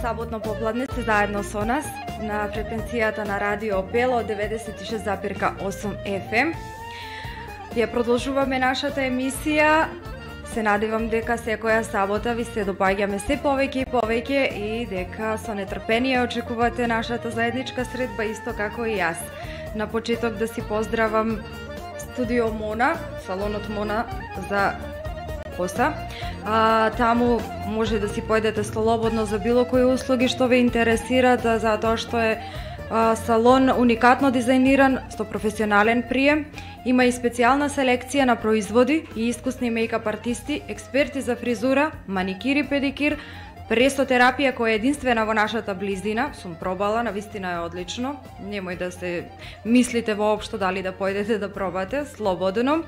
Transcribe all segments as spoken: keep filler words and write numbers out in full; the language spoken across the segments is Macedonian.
саботно попладне сте заедно со нас на фреквенцијата на Радио Пела од деветдесет и шест запирка осум еф ем. Ја продолжуваме нашата емисија. Се надевам дека секоја сабота ви се допаѓаме се повеќе и повеќе и дека со нетрпение очекувате нашата заедничка средба исто како и јас. На почеток да си поздравам Студио Мона, салонот Мона за коса. А, таму може да си појдете слободно за било кои услуги што ве интересираат, затоа што е а, салон уникатно дизајниран со професионален прием. Има и специјална селекција на производи и искусни мејкап артисти, експерти за фризура, маникир и педикир, пресотерапија која е единствена во нашата близина. Сум пробала, навистина е одлично. Немој да се мислите воопшто дали да појдете да пробате, слободно.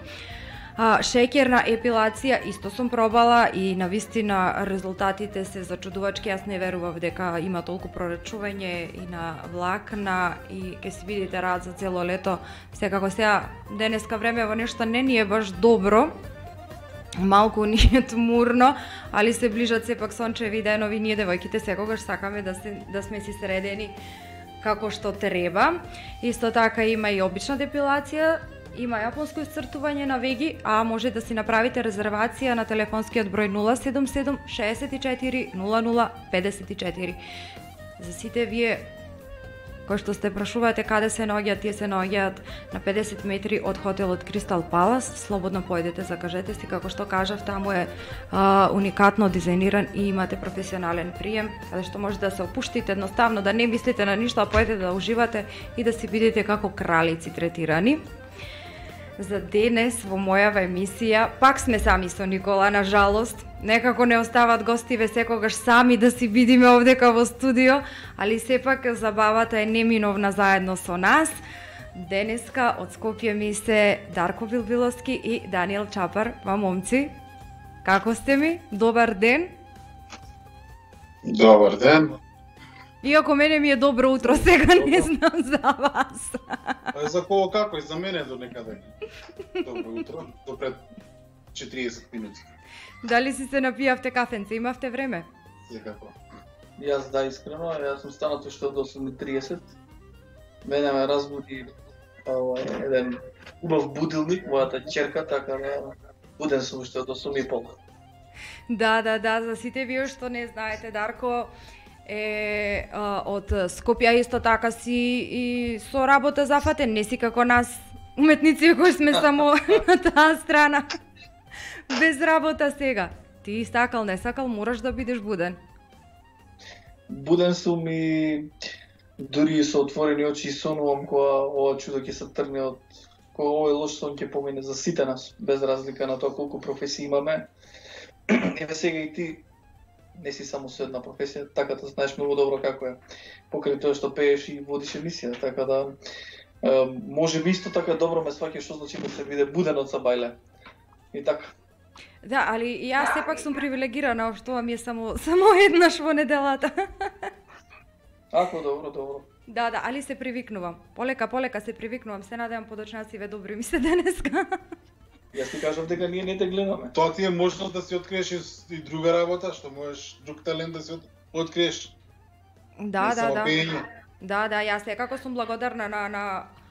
А, шеќерна епилација исто сум пробала и навистина резултатите се зачудувачки. Јас не верував дека има толку прорачување и на влакна и ќе си видите рад за цело лето. Секако сега денеска време во нешто не ни е баш добро. Малку ни е тмурно, али се ближат сепак сончеви денови. Ние девојките секогаш сакаме да се да сме си средени како што треба. Исто така има и обична депилација. Има јапонско исцртување на веги, а може да си направите резервација на телефонскиот број нула седум седум шеесет и четири нула нула педесет и четири. За сите вие кои што сте прашувате каде се наоѓаат, тие се наоѓаат на педесет метри од хотелот Кристал Палас. Слободно појдете, закажете си, како што кажав, таму е а, уникатно дизајниран и имате професионален прием, каде што може да се опуштите едноставно, да не мислите на ништо, а појдете да уживате и да си видите како кралици третирани. За денес во мојава емисија пак сме сами со Никола, на жалост. Некако не остават гостиве секогаш сами да си видиме овдека во студио, али сепак забавата е неминовна заедно со нас. Денеска од Скопје ми се Дарко Билбиловски и Даниел Чапар. Ма момци, како сте ми? Добар ден. Добар ден. Иако мене ми е добро утро, сега не знам за вас. За кого како и за мене до некаде. Добро утро, до пред четириесет минути. Дали си се напијавте кафенце, имавте време? Секако. Јас да, искрено, јас сум станат уште од осум и тридесет. Мене ме разбуди овај еден убав будилник, мојата ќерка, така да буден сум уште од осум и пол. Да, да, да, за сите вие што не знаете, Дарко е а, од Скопје, исто така си и со работа зафатен, не си како нас уметници кои сме само на таа страна. Без работа сега. Ти сакал, не сакал, мораш да бидеш буден. Буден сум и дури со отворени очи сонувам кога ова чудо ќе се тргне од кога овој лош сон ќе помине за сите нас, без разлика на тоа колку професии имаме. Еве сега и ти не си само со една професија, така да знаеш многу добро како е. Покрај тоа што пееш и водиш емисија, така да е, може би исто така добро ме сваќаш што значи да се биде буден од Сабајле. И така. Да, али јас сепак сум привилегирана, што ми е само само еднаш во неделата. Ако добро, добро. Да, да, али се привикнувам. Полека, полека се привикнувам. Се надевам подочнациве добри ми се денеска. Јас ти кажав дека ние не те гледаме. Тоа ти е можност да си откриеш и друга работа, што можеш друг талент да си от... откриеш. Да, не да, да. Пење. Да, да, јас секако сум благодарна на на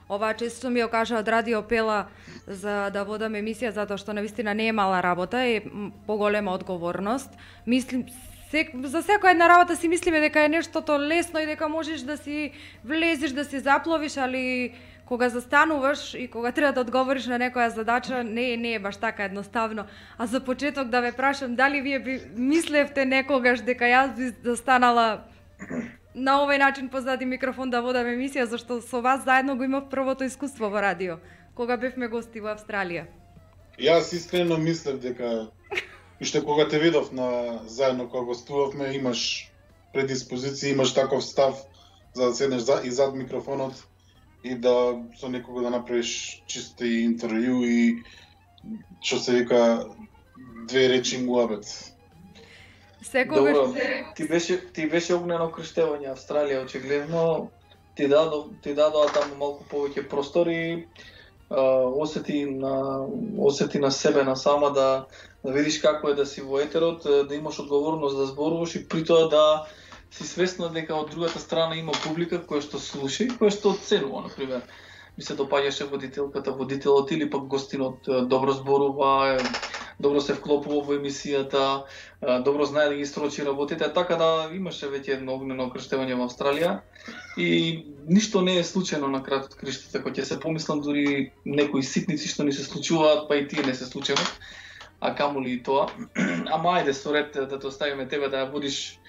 оваа чест што ми ја кажа од Радио Пела за да водам емисија, затоа што навистина не е мала работа, е поголема одговорност. Мислим сек, за секоја една работа си мислиме дека е нештото лесно и дека можеш да си влезеш, да се запловиш, али кога застануваш и кога треба да одговориш на некоја задача, не, не е баш така едноставно. А за почеток да ве прашам, дали вие би мислевте некогаш дека јас би застанала на овој начин позади микрофон да водам емисија, зашто со вас заедно го имав првото искуство во радио, кога бевме гости во Австралија. Јас искрено мислев дека уште кога те видов на заедно кога гостувавме, имаш предиспозиција, имаш таков став за да седнеш за и зад микрофонот и да со некого да направиш чисто интервју и што се вика две речи муабет. Секогаш Добро, ти беше ти беше огнено крштевање Австралија, очигледно ти дадо ти дадоа таму малку повеќе простори, осети на осети на себе на сама да да видиш како е да си во етерот, да имаш одговорност да зборуваш и при тоа да си свесна дека од другата страна има публика која што слуша и која што оценува, на пример. Ми се допаѓаше водителката, водителот или пак гостинот добро зборува, добро се вклопува во емисијата, добро знае да ги строчи работите, така да имаше веќе едно огнено крштевање во Австралија и ништо не е случајно на крај од криштата, кој ќе се помислам дури некои ситници што ни се случуваат, па и тие не се случајно, а камоли и тоа. Ама ајде со ред да те оставиме тебе да ја водиш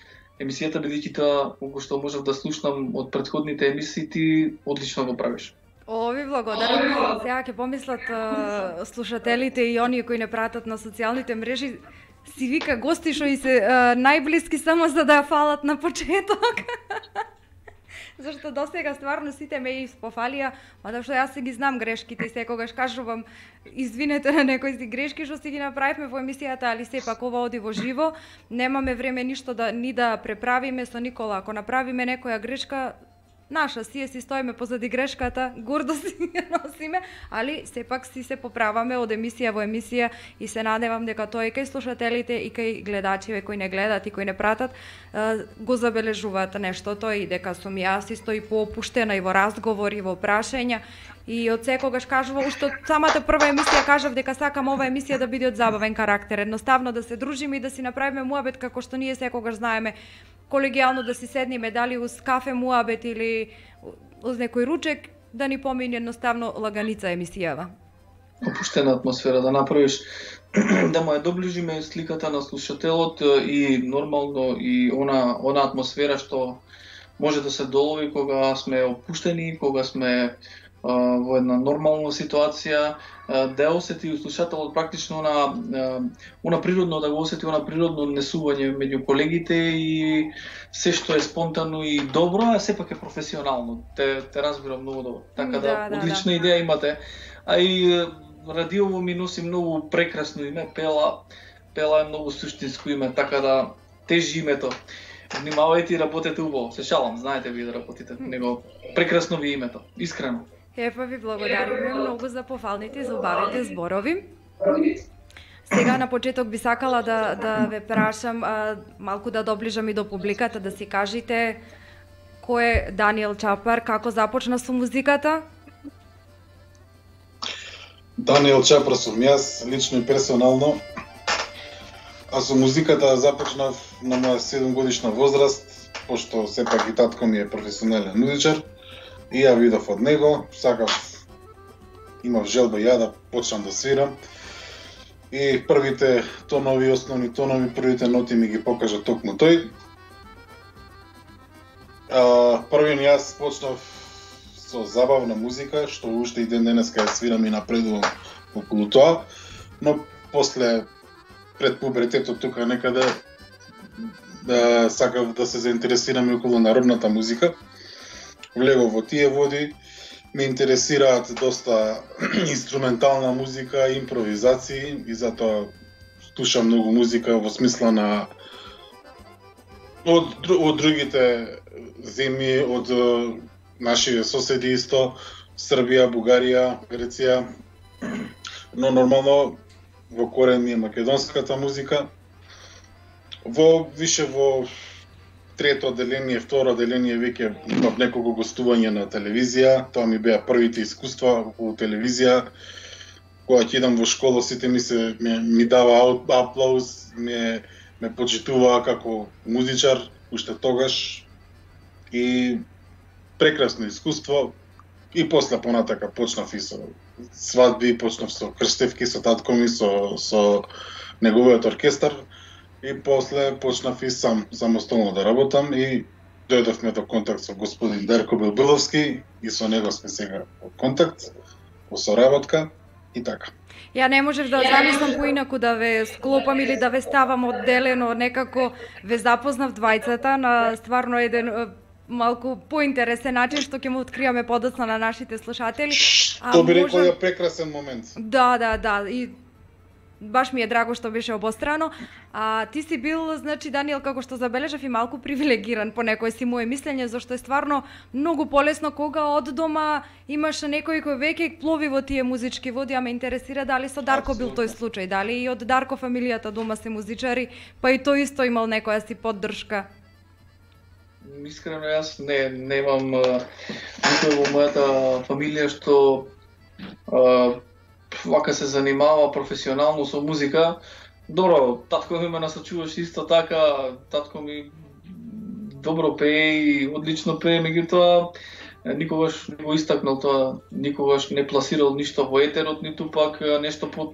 емисијата, бидејќи тоа колку што можев да слушнам од претходните емисии, ти одлично го правиш. О, ви благодарам. Сега ќе помислат а, слушателите и оние кои не пратат на социјалните мрежи, си вика гости што и се а, најблиски само за да ја фалат на почеток. Зашто досега стварно сите ме испофалија, мада што јас си ги знам грешките и секогаш кажувам извинете на некои си грешки што си ги направивме во емисијата, али сепак ова оди во живо, немаме време ништо да ни да преправиме со Никола. Ако направиме некоја грешка, наша си е, си стоиме позади грешката, гордо си ја носиме, али сепак си се поправаме од емисија во емисија и се надевам дека тоа и кај слушателите и кај гледачите кои не гледат и кои не пратат го забележуваат нештото и дека сум јас исто и поопуштена и во разговори, во прашања. И од секогаш кажува, уште од самата прва емисија кажав дека сакам ова емисија да биде од забавен карактер, едноставно да се дружиме и да си направиме муабет како што ние секогаш знаеме, колегијално да си седниме, дали уз кафе муабет или уз некој ручек, да ни помине едноставно лаганица емисијава. Опуштена атмосфера да направиш, да му ја доближиме сликата на слушателот и нормално и она, она атмосфера што може да се долови кога сме опуштени, кога сме во една нормална ситуација, да ја осети слушателот практично на она природно, да го осети она природно однесување меѓу колегите и се што е спонтано и добро, а сепак е професионално. Те, те разбирам многу добро. Така да, да одлична да, идеја имате. А и радиово ми носи многу прекрасно име, Пела. Пела е многу суштинско име, така да тежи името. Внимавајте и работете убаво. Се шалам, знаете ви да работите. Него прекрасно ви името, искрено. Епа ви благодариме многу за пофалните и за убавите зборови. Сега на почеток би сакала да, да ве прашам, а, малку да доближам и до публиката, да си кажете кој е Даниел Чапар, како започна со музиката? Даниел Чапар сум јас, лично и персонално. А со музиката започнав на моја седум годишна возраст, пошто сепак и татко ми е професионален музичар. И ја видов од него, сакав, имав желба ја да почнам да свирам. И првите тонови, основни тонови, првите ноти ми ги покажа токму тој. А, првин јас почнав со забавна музика, што уште и ден денеска ја свирам и напредувам околу тоа, но после пред пубертетот тука некаде да, сакав да се заинтересирам околу народната музика. Влегов во тие води, ме интересираат доста инструментална музика, импровизации и затоа слушам многу музика во смисла на од, од другите земји, од нашите соседи исто, Србија, Бугарија, Греција, но нормално во корен ми е македонската музика. Во више во трето деление, второ деление веќе имав неколку гостувања на телевизија, тоа ми беа првите искуства околу телевизија. Кога ќе идам во школа, сите ми се ми, ми дава аплауз, ме ме почитуваа како музичар уште тогаш и прекрасно искуство. И после понатака почнав и со свадби, почнав со крстевки со татко ми, со со неговиот оркестар. И после почнав и сам самостојно да работам и дојдовме до контакт со господин Дарко Белбиловски и со него сме сега во контакт, во соработка и така. Ја не можев да замислам поинаку да ве склопам или да ве ставам одделено, некако ве запознав двајцата на стварно еден малку поинтересен начин што ќе му откриваме подоцна на нашите слушатели. Што би рекол е прекрасен момент. Да, да, да, и баш ми е драго што беше обострано. А ти си бил, значи, Даниел, како што забележав, и малку привилегиран по некој си моje мислење, зашто е стварно многу полесно кога од дома имаш некој кој веќе плови во тие музички води, а ме интересира дали со Дарко бил тој случај, дали и од Дарко фамилијата дома се музичари, па и тој исто имал некоја си поддршка. искрено јас не немам никој во мојата фамилија што а, вака се занимава професионално со музика. Добро, татко ми ме насочуваше исто така, татко ми добро пее и одлично пее, меѓутоа никогаш не го истакнал тоа, никогаш не пласирал ништо во етерот, ниту пак нешто по,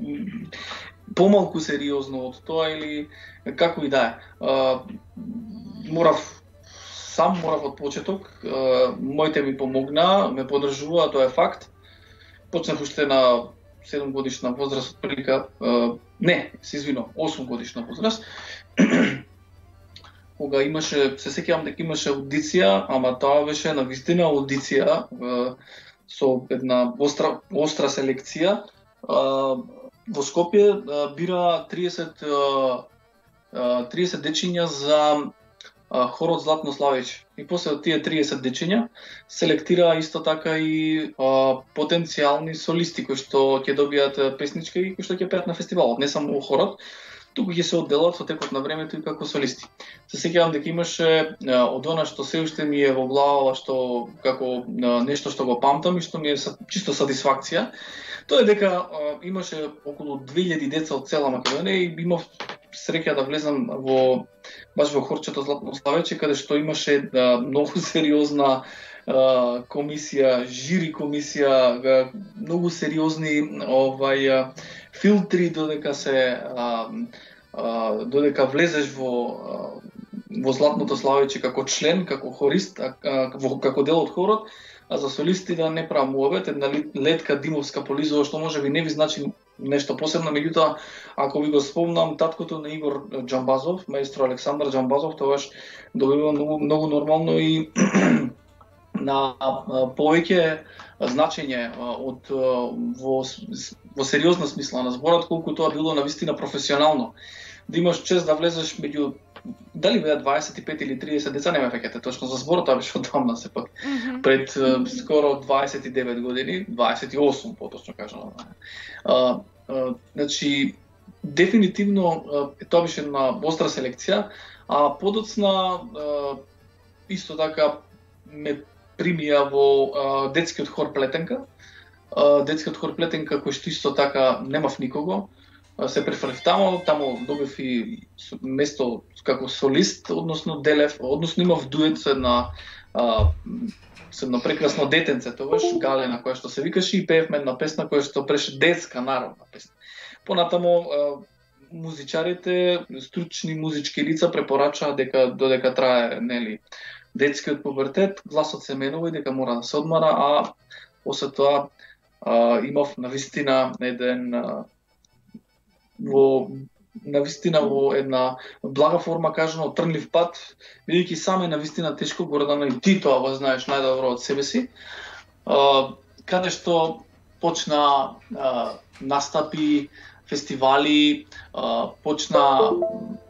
помалку сериозно од тоа или како и да е. Морав, сам морав од почеток, моите ми помогна, ме поддржуваа, тоа е факт. Почнав уште на седум годишна возраст, отприлика, не, се извинувам, осум годишна возраст, кога имаше, се сеќавам дека имаше аудиција, ама тоа беше навистина аудиција со една остра, остра селекција. Во Скопје бира триесет дечиња за хорот Златно Славејче. И после од тие триесет дечиња селектира исто така и а, потенцијални солисти кои што ќе добијат песничка и кои што ќе пеат на фестивалот, не само хорот, туку ќе се одделат со текот на времето и како солисти. Се сеќавам дека имаше а, од она што се уште ми е во глава, што како а, нешто што го памтам и што ми е чисто сатисфакција, тоа е дека а, имаше околу две илјади деца од цела Македонија и имав среќа да влезам во баш во хорчето Златно Славејче, каде што имаше а, многу сериозна а, комисија, жири комисија, а, многу сериозни овај а, филтри додека се а, а, додека влезеш во а, во Златното Славејче како член, како хорист, а, а, во, како дел од хорот, а за солисти да не правам муабет, една Летка Димовска Полизова, што може би не ви значи нешто посебно, меѓутоа, ако ви го спомнам, таткото на Игор Џамбазов, маестро Александар Џамбазов, тогаш добива многу, многу нормално и на повеќе значење од во, во сериозна смисла на зборот, колку тоа било навистина професионално. Да имаш чест да влезеш меѓу дали беа дваесет и пет или триесет деца, не ме фаќате точно за зборот, тоа беше одамна сепак. Mm-hmm. Пред uh, скоро дваесет и девет години, дваесет и осум поточно кажано. Uh, uh, значи дефинитивно uh, тоа беше на остра селекција, а подоцна uh, исто така ме примија во uh, детскиот хор Плетенка. Uh, детскиот хор Плетенка кој што исто така немав никого. Се префрлив тамо, тамо добив и место како солист, односно делев, односно имав дует со една а, со едно прекрасно детенце, тогаш Галена, која што се викаше, и пеевме една песна која што беше детска народна песна. Понатамо а, музичарите, стручни музички лица препорачаа дека додека трае, нели, детскиот пубертет, гласот се менува и дека мора да се одмара, а после тоа а, имав навистина еден а, во навистина во една блага форма кажано трнлив пат, бидејќи саме навистина тешко, Гордана, и ти тоа го знаеш најдобро од себе си, а, каде што почна а, настапи, фестивали, а, почна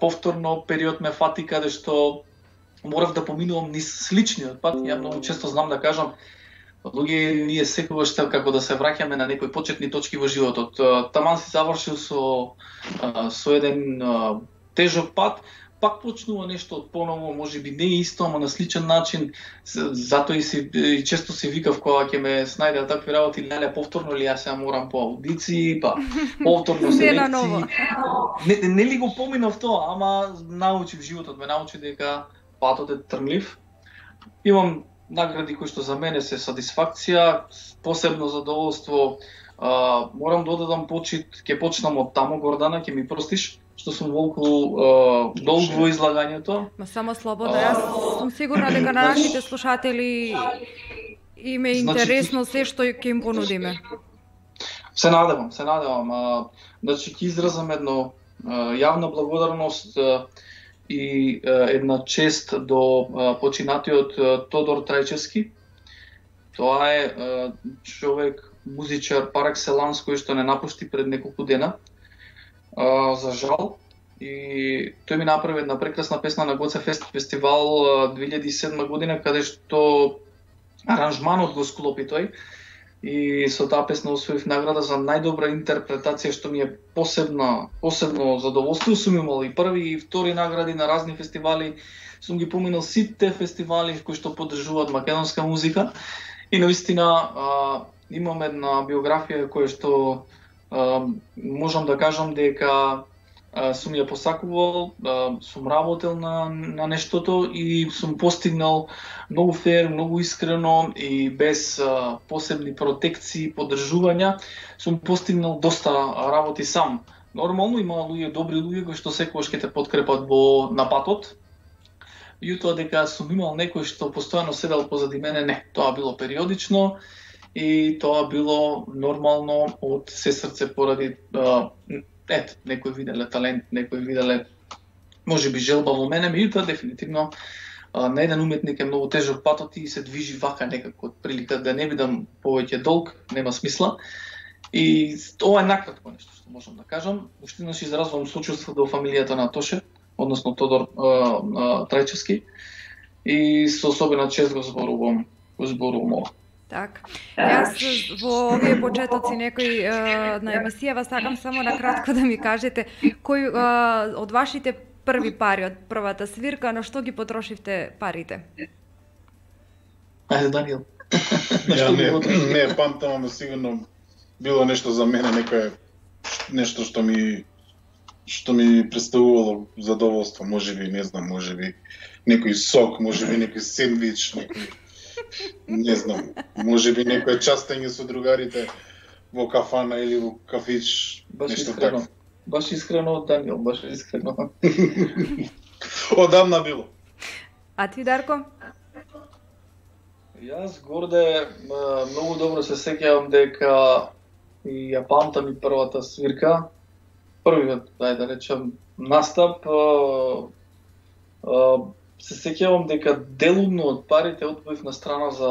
повторно период ме фати каде што морав да поминувам низ сличниот пат. Ја многу често знам да кажам, луѓе, ние секогаш како да се враќаме на некои почетни точки во животот. Таман си завршил со со еден тежок пат, пак почнува нешто од поново, можеби не исто, ама на сличен начин. Затоа и си и често си викав кога ќе ме снајдеа такви работи, леле повторно ли јас ја морам по аудиции, па повторно селекции. Не, не ли го поминав тоа, ама научив, животот ме научи дека патот е трнлив. Имам награди кои што за мене се сатисфакција, посебно задоволство. А, морам да одадам почит, ќе почнам од тамо, Гордана, ќе ми простиш, што сум волку а, долго во излагањето. Ма само слободно, јас сум сигурна дека на нашите слушатели им е интересно се што ќе им понудиме. Се надевам, се надевам. А, значи, ќе изразам едно а, јавна благодарност а, и е, една чест до е, починатиот е, Тодор Трајчевски. Тоа е, е човек, музичар пар екселанс кој што не напушти пред неколку дена. Е, за жал. И тој ми направи една прекрасна песна на Гоце Фест фестивал две илјади и седма година, каде што аранжманот го склопи тој. и со таа песна освоив награда за најдобра интерпретација, што ми е посебна, посебно задоволство. Сум имал и први и втори награди на разни фестивали. Сум ги поминал сите фестивали кои што поддржуваат македонска музика и наистина а, имам една биографија која што а, можам да кажам дека а, сум ја посакувал, а, сум работел на, на нештото и сум постигнал многу фер, многу искрено и без а, посебни протекции, поддржувања, сум постигнал доста работи сам. Нормално има луѓе, добри луѓе кои што секогаш ќе те подкрепат во напатот. Јутоа дека сум имал некој што постојано седел позади мене, не, тоа било периодично и тоа било нормално од се срце поради а, ет, некој виделе талент, некој виделе можеби желба во мене, меѓутоа дефинитивно а, на еден уметник е многу тежок патот и се движи вака некако од прилика да не бидам повеќе долг, нема смисла. И ова е накратко нешто што можам да кажам. Уште еднаш изразувам сочувство до фамилијата на Тоше, односно Тодор а, а, Трајчевски, и со особена чест го зборувам, го зборувам ова. Так. Јас во овие почетоци некој а, на емисијава сакам само на кратко да ми кажете кој а, од вашите први пари од првата свирка, на што ги потрошивте парите? Ајде, Даниел. Ја не, не памтам, ама сигурно било нешто за мене, некое нешто што ми што ми представувало задоволство, можеби, не знам, можеби некој сок, можеби некој сендвич, некој не знам, можеби некој частење со другарите во кафана или во кафич, баш нешто искрено. така. Баш искрено, Даниел, баш искрено. Одамна било. А ти, Дарко? Јас горде многу добро се сеќавам дека и ја памтам и првата свирка, првиот, дај да речем, настап, а, а, се сеќавам дека делумно од парите одвоив на страна за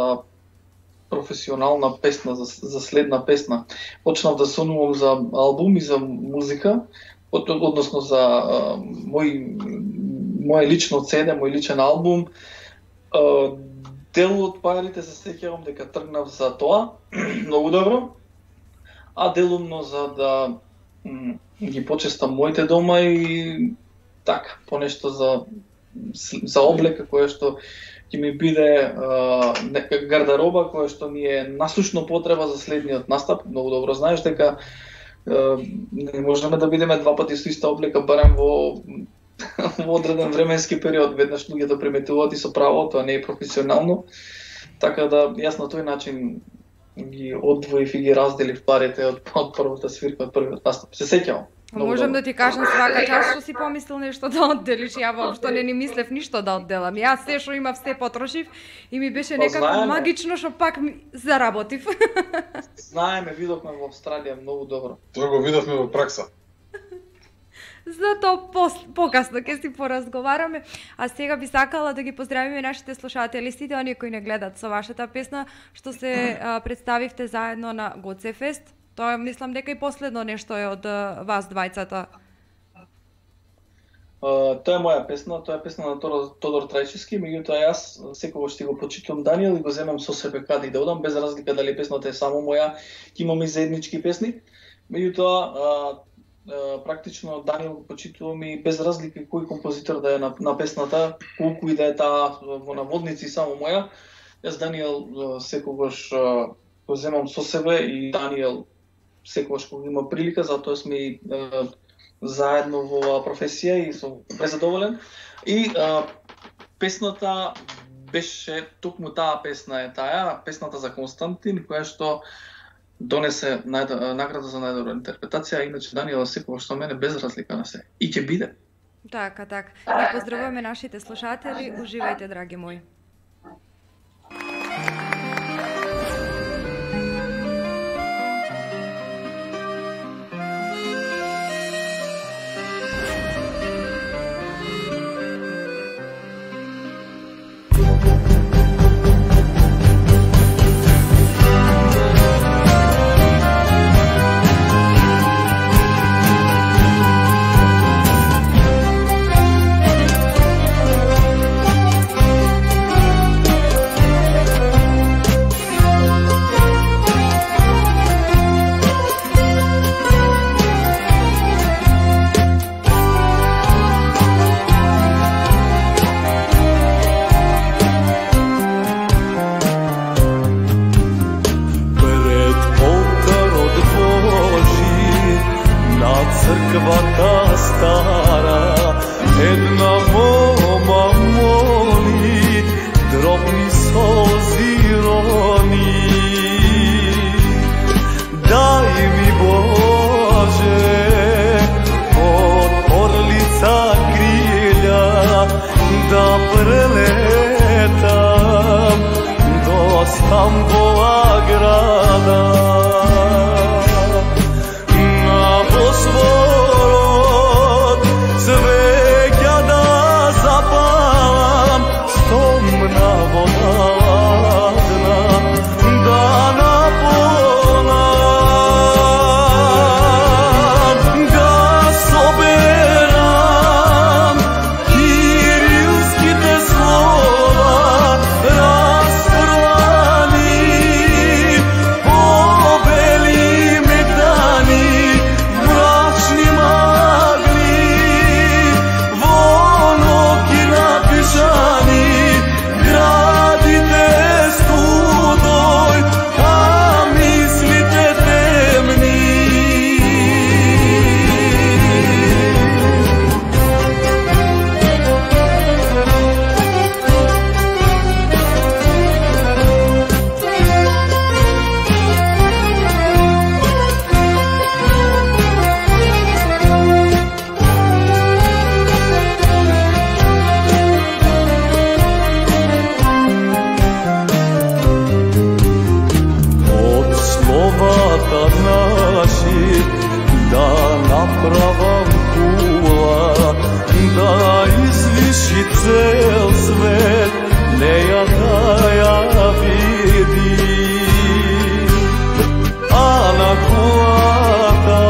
професионална песна, за, за следна песна. Почнав да сонувам за албум и за музика, од, односно за а, мој, мој лично цеде, мој личен албум. А, дел од парите се сеќавам дека тргнав за тоа, многу добро, а делумно за да м, ги почестам моите дома и така, понешто за за облека која што ќе ми биде а, нека гардероба која што ми е насушно потреба за следниот настап. Многу добро знаеш дека а, не можеме да бидеме два пати со иста облека барем во во одреден временски период. Веднаш луѓето приметуваат и со право, тоа не е професионално. Така да јас на тој начин ги одвоив и ги разделив парите од, од првата свирка, од првиот настап. Се сеќавам. Можам да ти кажам свака час што си помислил нешто да одделиш, ја воопшто не ни мислев ништо да одделам. Јас се што имав се потрошив и ми беше некако знаеме. магично што пак ми заработив. Знаеме, видовме во Австралија многу добро. Тоа го видовме во пракса. Затоа пос, покасно ќе си поразговараме. А сега би сакала да ги поздравиме нашите слушатели, сите оние кои не гледат со вашата песна, што се а, представивте заедно на Гоцефест. Тоа мислам дека и последно нешто е од а, вас двајцата. Uh, тоа е моја песна, тоа е песна на Тодор, Тодор Трајчевски, меѓутоа јас секогаш ќе го почитувам Даниел и го земам со себе каде и да одам, без разлика дали песната е само моја, ќе имаме и заеднички песни. Меѓутоа, uh, uh, практично Даниел го почитувам и без разлика кој композитор да е на, на песната, колку и да е таа во наводници само моја, јас Даниел uh, секогаш uh, го земам со себе и Даниел секогаш кога има прилика, затоа сме и uh, заедно во оваа професија и сум презадоволен. И а, песната беше, токму таа песна е таа, песната за Константин, која што донесе најд... награда за најдобра интерпретација, иначе Даниела секогаш со мене без разлика на се. И ќе биде. Така, така. И поздравуваме нашите слушатели, уживајте, драги мои. solzi roni. Daj mi Bože od orlica krilja da preletam do Stambova grada. Na Bosvorod cveća da zapalam, stomna voda ladna da napolam, da soberam kirilskite slova rasprvani po belim ekrani mračni magli vonoki napišani gradite studoj, a mislite temni. Od словата наши да направам кула, да извиши цел свет, неја да ја види. А на кулата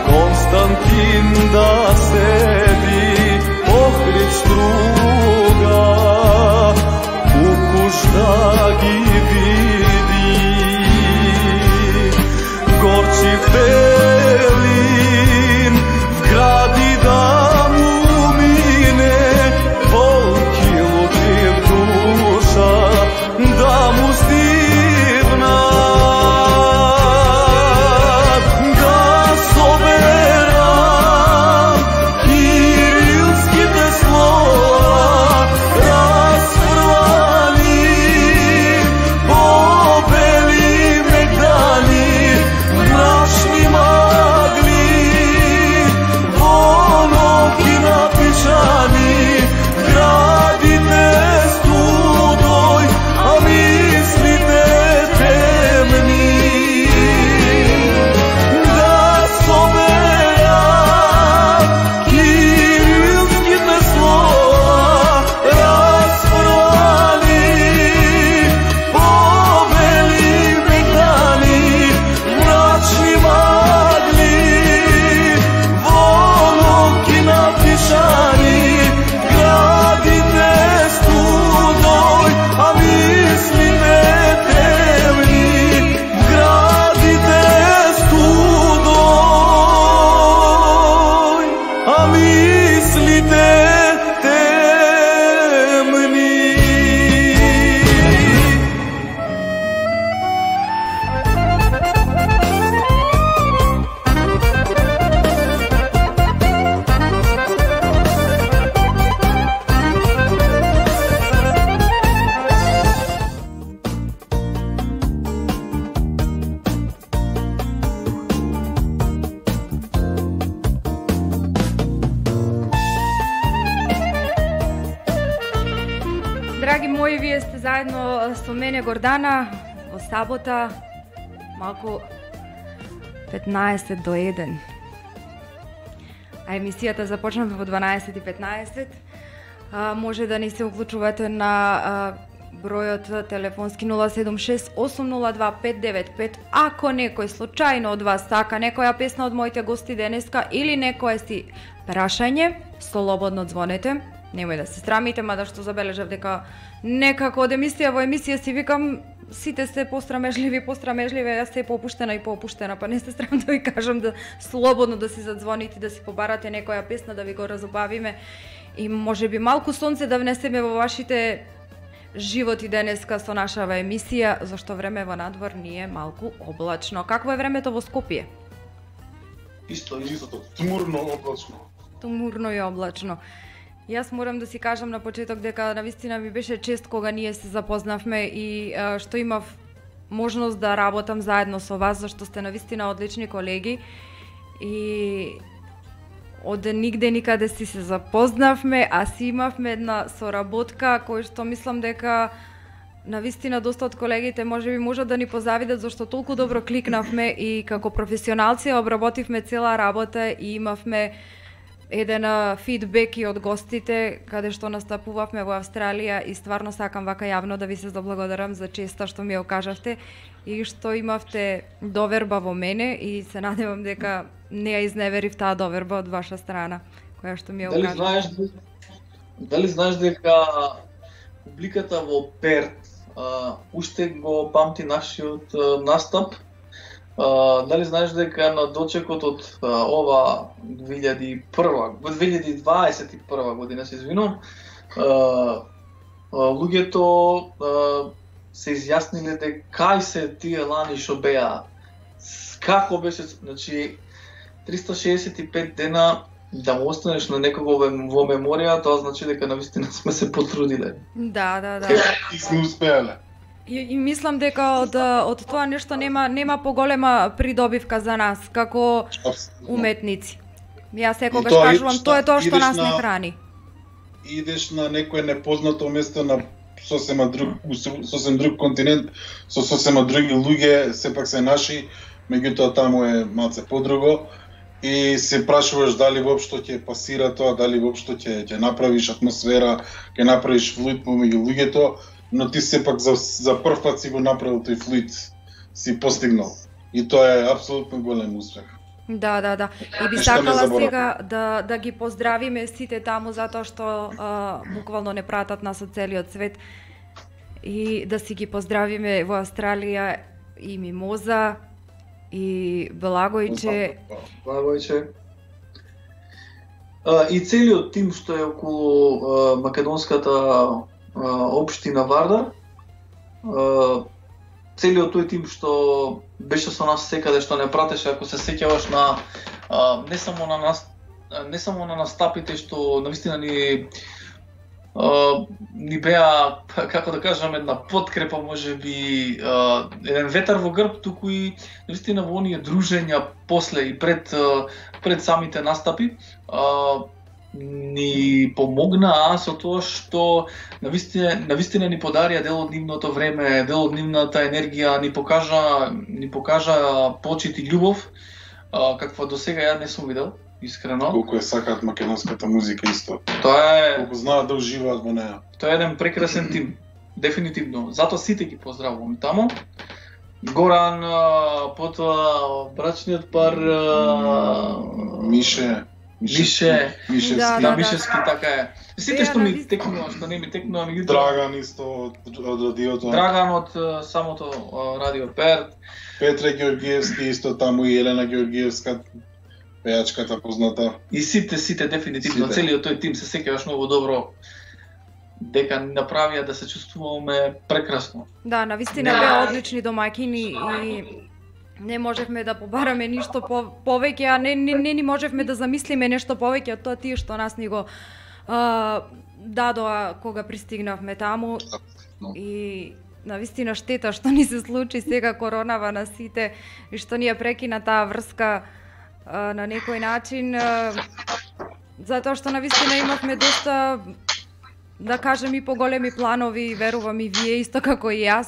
Константин да седи, покрит струга, укуш да ги види. Горчив Белин в гради да му мине, волки лутив душа да му стигнат, да соберам кирилските слова расфрлани по белим екрани мрачни магли воноки напишани градите студой, а мислите темни. Да соберам кирилските слова расфрлани по белим екрани мрачни магли воноки напишани градите студой, а мислите темни. Градите студой, а мислите темни. Драги мои, вие сте заедно со мене Гордана во сабота малку петнаесет до еден. А емисијата започнава во дванаесет и петнаесет. А, може да ни се уклучувате на а, бројот телефонски нула седум шест осум нула два пет девет пет. Ако некој случајно од вас сака некоја песна од моите гости денеска или некое си прашање, слободно звонете. Немој да се срамите, мада што забележав дека некако од емисија во емисија си викам сите се пострамежливи, пострамежливи, јас се попуштена и попуштена, па не се срам да ви кажам да слободно да си задзвоните, да си побарате некоја песна, да ви го разобавиме и може би малку сонце да внесеме во вашите животи денеска со нашава емисија, зашто време во надвор ни е малку облачно. Какво е времето во Скопје? Исто, истото, тмурно облачно. Тмурно и облачно. Јас морам да си кажам на почеток дека навистина ми беше чест кога ние се запознавме и а, што имав можност да работам заедно со вас, зашто сте навистина одлични колеги и од нигде никаде си се запознавме, а си имавме една соработка кој што мислам дека навистина доста од колегите можеби можат да ни позавидат зашто толку добро кликнавме и како професионалци обработивме цела работа и имавме еден фидбек и од гостите каде што настапувавме во Австралија и стварно сакам вака јавно да ви се заблагодарам за честа што ми ја окажавте и што имавте доверба во мене и се надевам дека не ја изневерив таа доверба од ваша страна која што ми ја Дали окажа. знаеш дали знаеш дека публиката во Перт а, уште го памти нашиот а, настап? А, дали знаеш дека на дочекот од а, ова две илјади и прва, две илјади дваесет и прва година се извинувам, а, а, луѓето а, се изјасниле дека кај се тие лани што беа, како беше, значи триста шеесет и пет дена да му останеш на некого во во меморија, тоа значи дека навистина сме се потрудиле. Да, да, да. И сме успеале. И, и мислам дека од од тоа нешто нема нема поголема придобивка за нас како уметници. Јас секогаш И тоа е кажувам, што тоа е тоа што идеш нас не на- храни. Идеш на некое непознато место на сосема друг сосем друг континент, со сосема други луѓе, сепак се наши, меѓутоа таму е малце подруго и се прашуваш дали воопшто ќе пасира тоа, дали воопшто ќе ќе направиш атмосфера, ќе направиш флуид помеѓу луѓето, но ти сепак за за прв пат си го направил тој флуид, си постигнал. И тоа е апсолутно голем успех. Да, да, да. И би Ништо не сакала заборавам. сега да да ги поздравиме сите таму затоа што а, буквално не пратат нас од целиот свет и да си ги поздравиме во Австралија и Мимоза и Благојче. Благојче. А, и целиот тим што е околу а, македонската а, општина Вардар, а, целиот тој тим што беше со нас секаде, што не пратеше, ако се сеќаваш на а, не само на нас, не само на настапите што навистина ни а, ни беа, како да кажам, една подкрепа, можеби а, еден ветар во грб, туку и навистина во оние дружења после и пред а, пред самите настапи а, ни помогнаа со тоа што навистина навистина ни подарија дел од нивното време, дел од нивната енергија, ни покажа ни покажа почит и љубов а, каква досега ја не сум видел, искрено. Колку ја сакаат македонската музика исто. Тоа е Колку знаат да уживаат во неа. Тоа е еден прекрасен тим, дефинитивно. Затоа сите ги поздравувам таму. Горан, а, потоа брачниот пар а, Мише, Мише, Мише, Да, Ски, да, да. Мишевски, така е. Сите Беа што ми навистина. текнува, што не ми текнува, меѓутоа Драган исто од, од радиото. Драган од а, самото а, Радио Перт, Петре Георгиевски исто таму и Елена Георгиевска, пејачката позната. и сите, сите дефинитивно, Сите. целиот тој тим се сеќаваш многу добро дека ни направија да се чувствуваме прекрасно. Да, навистина беа одлични домаќини и не можевме да побараме ништо по, повеќе, а не, не, не ни можевме да замислиме нешто повеќе од тоа тие што нас ни го а, дадоа кога пристигнавме таму. И навистина штета што ни се случи сега коронава на сите и што ни ја прекина таа врска а, на некој начин а, затоа што навистина имавме доста, да кажем, и поголеми планови и верувам и вие исто како и јас.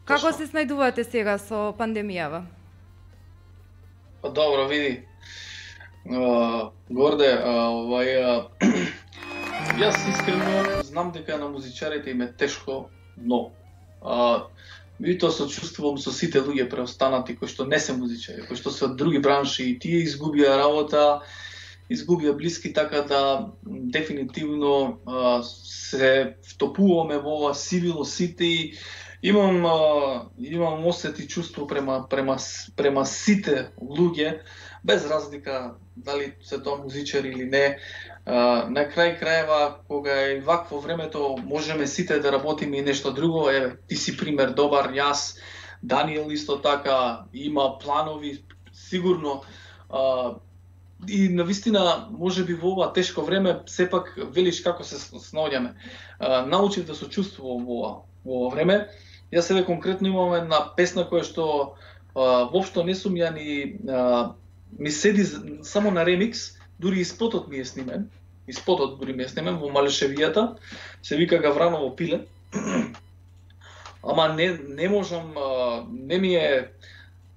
Како се снајдувате сега со пандемијава? Па добро, види. А, Горде, а, овај а, јас искрено знам дека на музичарите им е тешко, но а, меѓутоа сочувствувам со сите луѓе преостанати кои што не се музичари, кои што се од други бранши и тие изгубија работа, изгубија блиски, така да дефинитивно а, се втопуваме во ова сивило сите и имам а, имам осет и чувство према према према сите луѓе без разлика дали се тоа музичари или не. А, на крај крајeva кога е вакво времето можеме сите да работиме и нешто друго. Еве, ти си пример добар, јас, Даниел исто така има планови, сигурно а, и навистина можеби во ова тешко време сепак велиш како се снаоѓаме. Научив да се чувствувам во ова во ова време. Јас себе конкретно имам една песна која што а, воопшто не сум ја ни а, ми седи само на ремикс, дури и спотот ми е снимен. И спотот дури ми е снимен во Малешевијата, се вика Гавраново пиле. Ама не не можам, не ми е,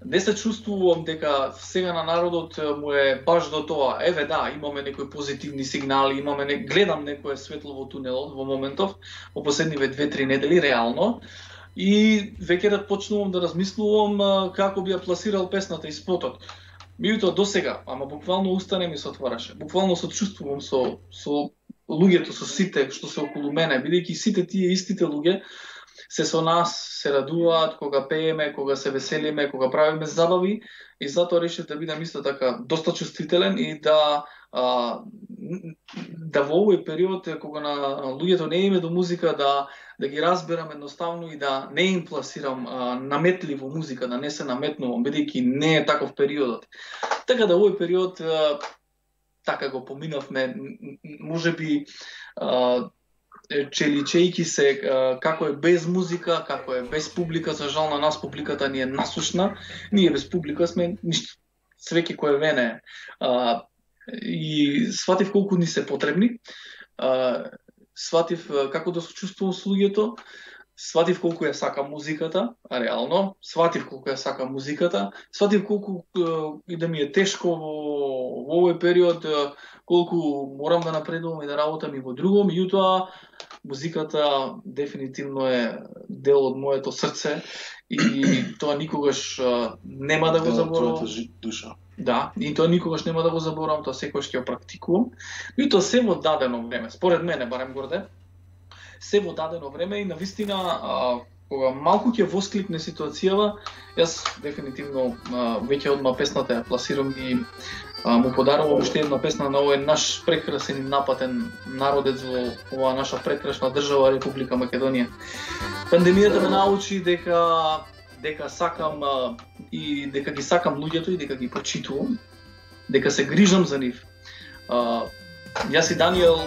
не се чувствувам дека сега на народот му е баш до тоа. Еве да, имаме некои позитивни сигнали, имаме не, гледам некое светло во тунелот во моментов, во последниве две-три недели реално. И веќе да почнувам да размислувам како би ја пласирал песната и спотот. Меѓутоа до сега, ама буквално уста не ми се отвараше. Буквално се чувствувам со со луѓето, со сите што се околу мене, бидејќи сите тие истите луѓе се со нас, се радуваат кога пееме, кога се веселиме, кога правиме забави, и затоа решив да бидам исто така доста чувствителен и да а, да во овој период кога на луѓето не име до музика, да да ги разберам едноставно и да не им пласирам а, наметливо музика, да не се наметнувам, бидејќи не е таков периодот. Така да овој период а, така го поминавме, можеби а, челичејки се а, како е без музика, како е без публика. За жал на нас публиката ни е насушна, ние без публика сме ништо, свеќе кој вене. А, и сватив колку ни се потребни, а, сватив како да се чувствувам со луѓето, сватив колку ја сакам музиката, а реално, сватив колку ја сакам музиката, сватив колку и да ми е тешко во, во овој период, колку морам да напредувам и да работам и во друго, меѓутоа музиката дефинитивно е дел од моето срце и тоа никогаш нема да го заборавам. душа. Да, и тоа никогаш нема да го заборавам, тоа секогаш ќе го практикувам. И тоа се во дадено време, според мене, барем горде, се во дадено време и навистина, а, кога малку ќе воскликне ситуацијава, јас дефинитивно а, веќе одма песната ја пласирам и а, му подарувам уште една песна на овој наш прекрасен и напатен народец во оваа наша прекрасна држава Република Македонија. Пандемијата ме научи дека дека сакам а, и дека ги сакам луѓето и дека ги почитувам, дека се грижам за нив. А, јас и Даниел,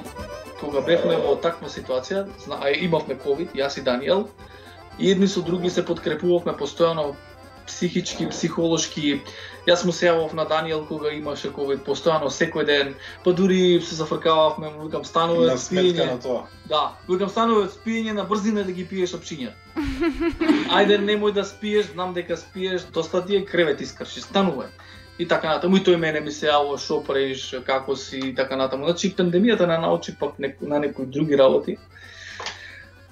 кога бевме во таква ситуација, а имавме ковид, јас и Даниел, и едни со други се подкрепувавме постојано психички, психолошки. Јас му се јавав на Даниел кога имаше ковид постојано секој ден, па дури се зафркававме, му викам стануве од спиење. На тоа. Да, викам стануве од спиење, на брзина да ги пиеш опчиња. Ајде немој да спиеш, знам дека спиеш, доста ти е, кревет искрши, станувај. И така натаму, и тој мене ми се јавува, шо правиш, како си, и така натаму. Значи, пандемијата не научи пак на некои други работи.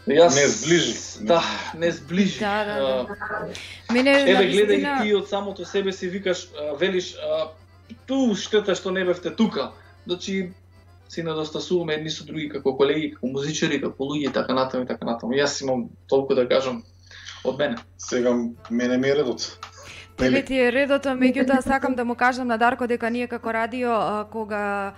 Јас... Не сближи. Да, не сближи. Да, да, да. Мене, Еве, навистина... гледај ти од самото себе си викаш, велиш, ту штета што не бевте тука. Значи, си недостасуваме едни со други како колеги, како музичари, како луѓе, така натаму и така натаму. Јас имам толку да кажам од мене. Сега мене ми е редот. Тебе ти е редото, меѓутоа сакам да му кажам на Дарко дека ние како радио, а, кога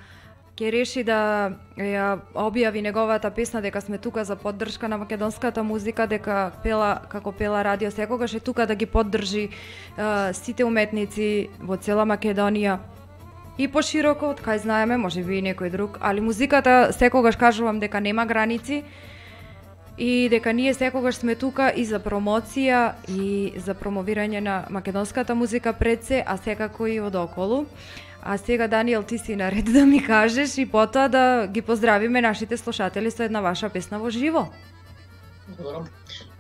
ќе реши да ја објави неговата песна, дека сме тука за поддршка на македонската музика, дека пела како пела радио секогаш е тука да ги поддржи а, сите уметници во цела Македонија. И пошироко, од кај знаеме, може би и некој друг, али музиката секогаш кажувам дека нема граници и дека ние секогаш сме тука и за промоција и за промовирање на македонската музика пред се, а секако и одоколу. А сега, Даниел, ти си наред да ми кажеш и потоа да ги поздравиме нашите слушатели со една ваша песна во живо. Благодарам.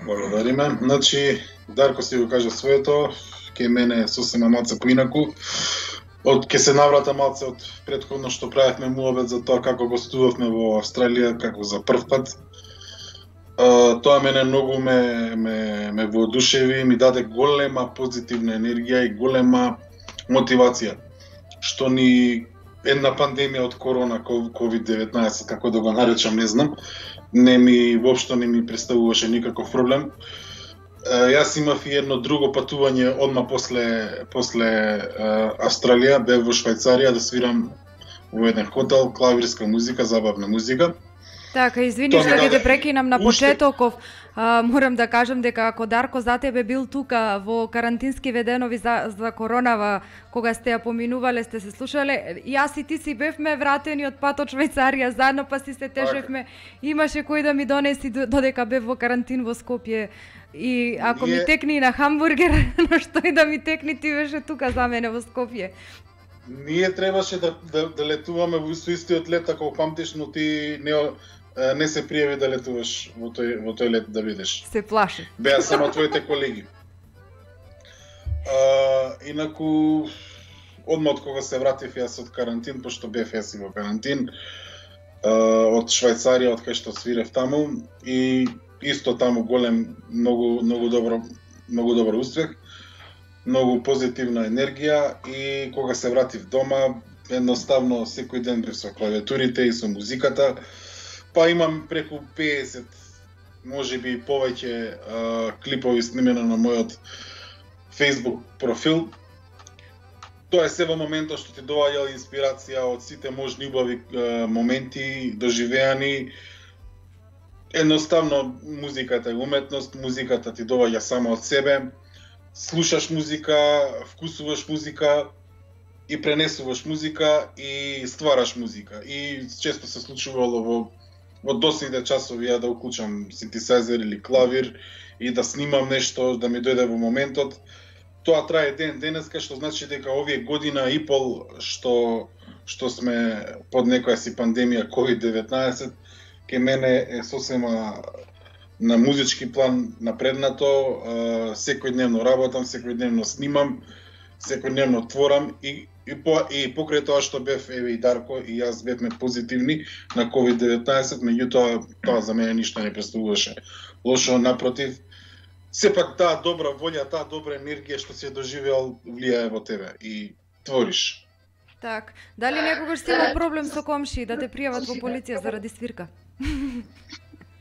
Благодариме. Значи, Дарко си го кажа своето, ке мене сосема малце поинаку. Од ке се наврата малце од претходно што правевме муабет за тоа како гостувавме во Австралија, како за прв пат. Uh, тоа мене многу ме, ме, ме воодушеви, ми даде голема позитивна енергија и голема мотивација. Што ни една пандемија од корона, ковид деветнаесет, како да го наречам, не знам, не ми, воопшто не ми представуваше никаков проблем. Uh, јас имав и едно друго патување одма после, после uh, Австралија, бев во Швајцарија да свирам во еден хотел, клавирска музика, забавна музика. Така, извини што ќе те прекинам на почетоков. А, морам да кажам дека ако Дарко за тебе бил тука во карантински веденови за, за коронава, кога сте ја поминувале, сте се слушале, јас и ти си бевме вратени од пат од Швајцарија заедно, па си се тежевме. Имаше кој да ми донеси додека бев во карантин во Скопје. И ако Ние... ми текни на хамбургер, на што и да ми текни, ти беше тука за мене во Скопје. Ние требаше да, да, да летуваме во истиот лет, ако памтиш, но ти не, не се пријави да летуваш во тој, во тој лет да бидеш. Се плаши. Беа само твоите колеги. А, инаку, одма од кога се вратив јас од карантин, пошто бев јас и во карантин, а, од Швајцарија, од кај што свирев таму, и исто таму голем, многу, многу добро, многу добар успех, многу позитивна енергија, и кога се вратив дома, едноставно секој ден бев со клавиатурите и со музиката, па имам преку педесет, можеби и повеќе а, клипови снимено на мојот Facebook профил. Тоа е се во моментот што ти доаѓа инспирација од сите можни убави а, моменти доживеани. Едноставно музиката е уметност, музиката ти доаѓа само од себе. Слушаш музика, вкусуваш музика и пренесуваш музика и ствараш музика. И често се случувало во во доцните часови ја да уклучам синтесайзер или клавир и да снимам нешто, да ми дојде во моментот. Тоа трае ден денеска, што значи дека овие година и пол што што сме под некоја си пандемија ковид деветнаесет, ке мене е сосема на музички план напреднато, секојдневно работам, секојдневно снимам, секојдневно творам и и по и покрај тоа што бев еве и Дарко и јас бевме позитивни на ковид деветнаесет, меѓутоа тоа за мене ништо не представуваше лошо, напротив, сепак таа добра волја, таа добра енергија што си ја доживеал влијае во тебе и твориш. Так, дали некогаш си имал проблем со комши да те пријават во полиција заради свирка?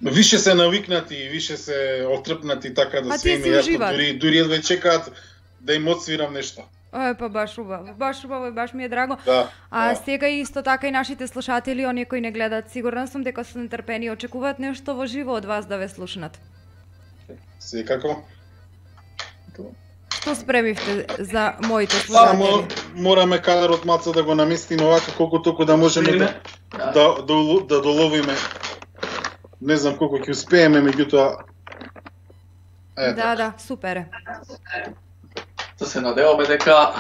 Више се навикнати, више се отрпнати така да се име, јас дури дури едва чекаат да им отсвирам нешто. Е, па баш убаво, баш убаво и баш ми е драго. Да, а да. Сега исто така и нашите слушатели, оние кои не гледат, сигурна сум дека се нетрпени и очекуваат нешто во живо од вас да ве слушнат. Секако. Што спремивте за моите Само слушатели? мораме кадрот маца да го наместиме овака колку толку да можеме да да, да, да, да доловиме. Не знам колку ќе успееме, меѓутоа Да, да, да, супер е. Да се надеваме дека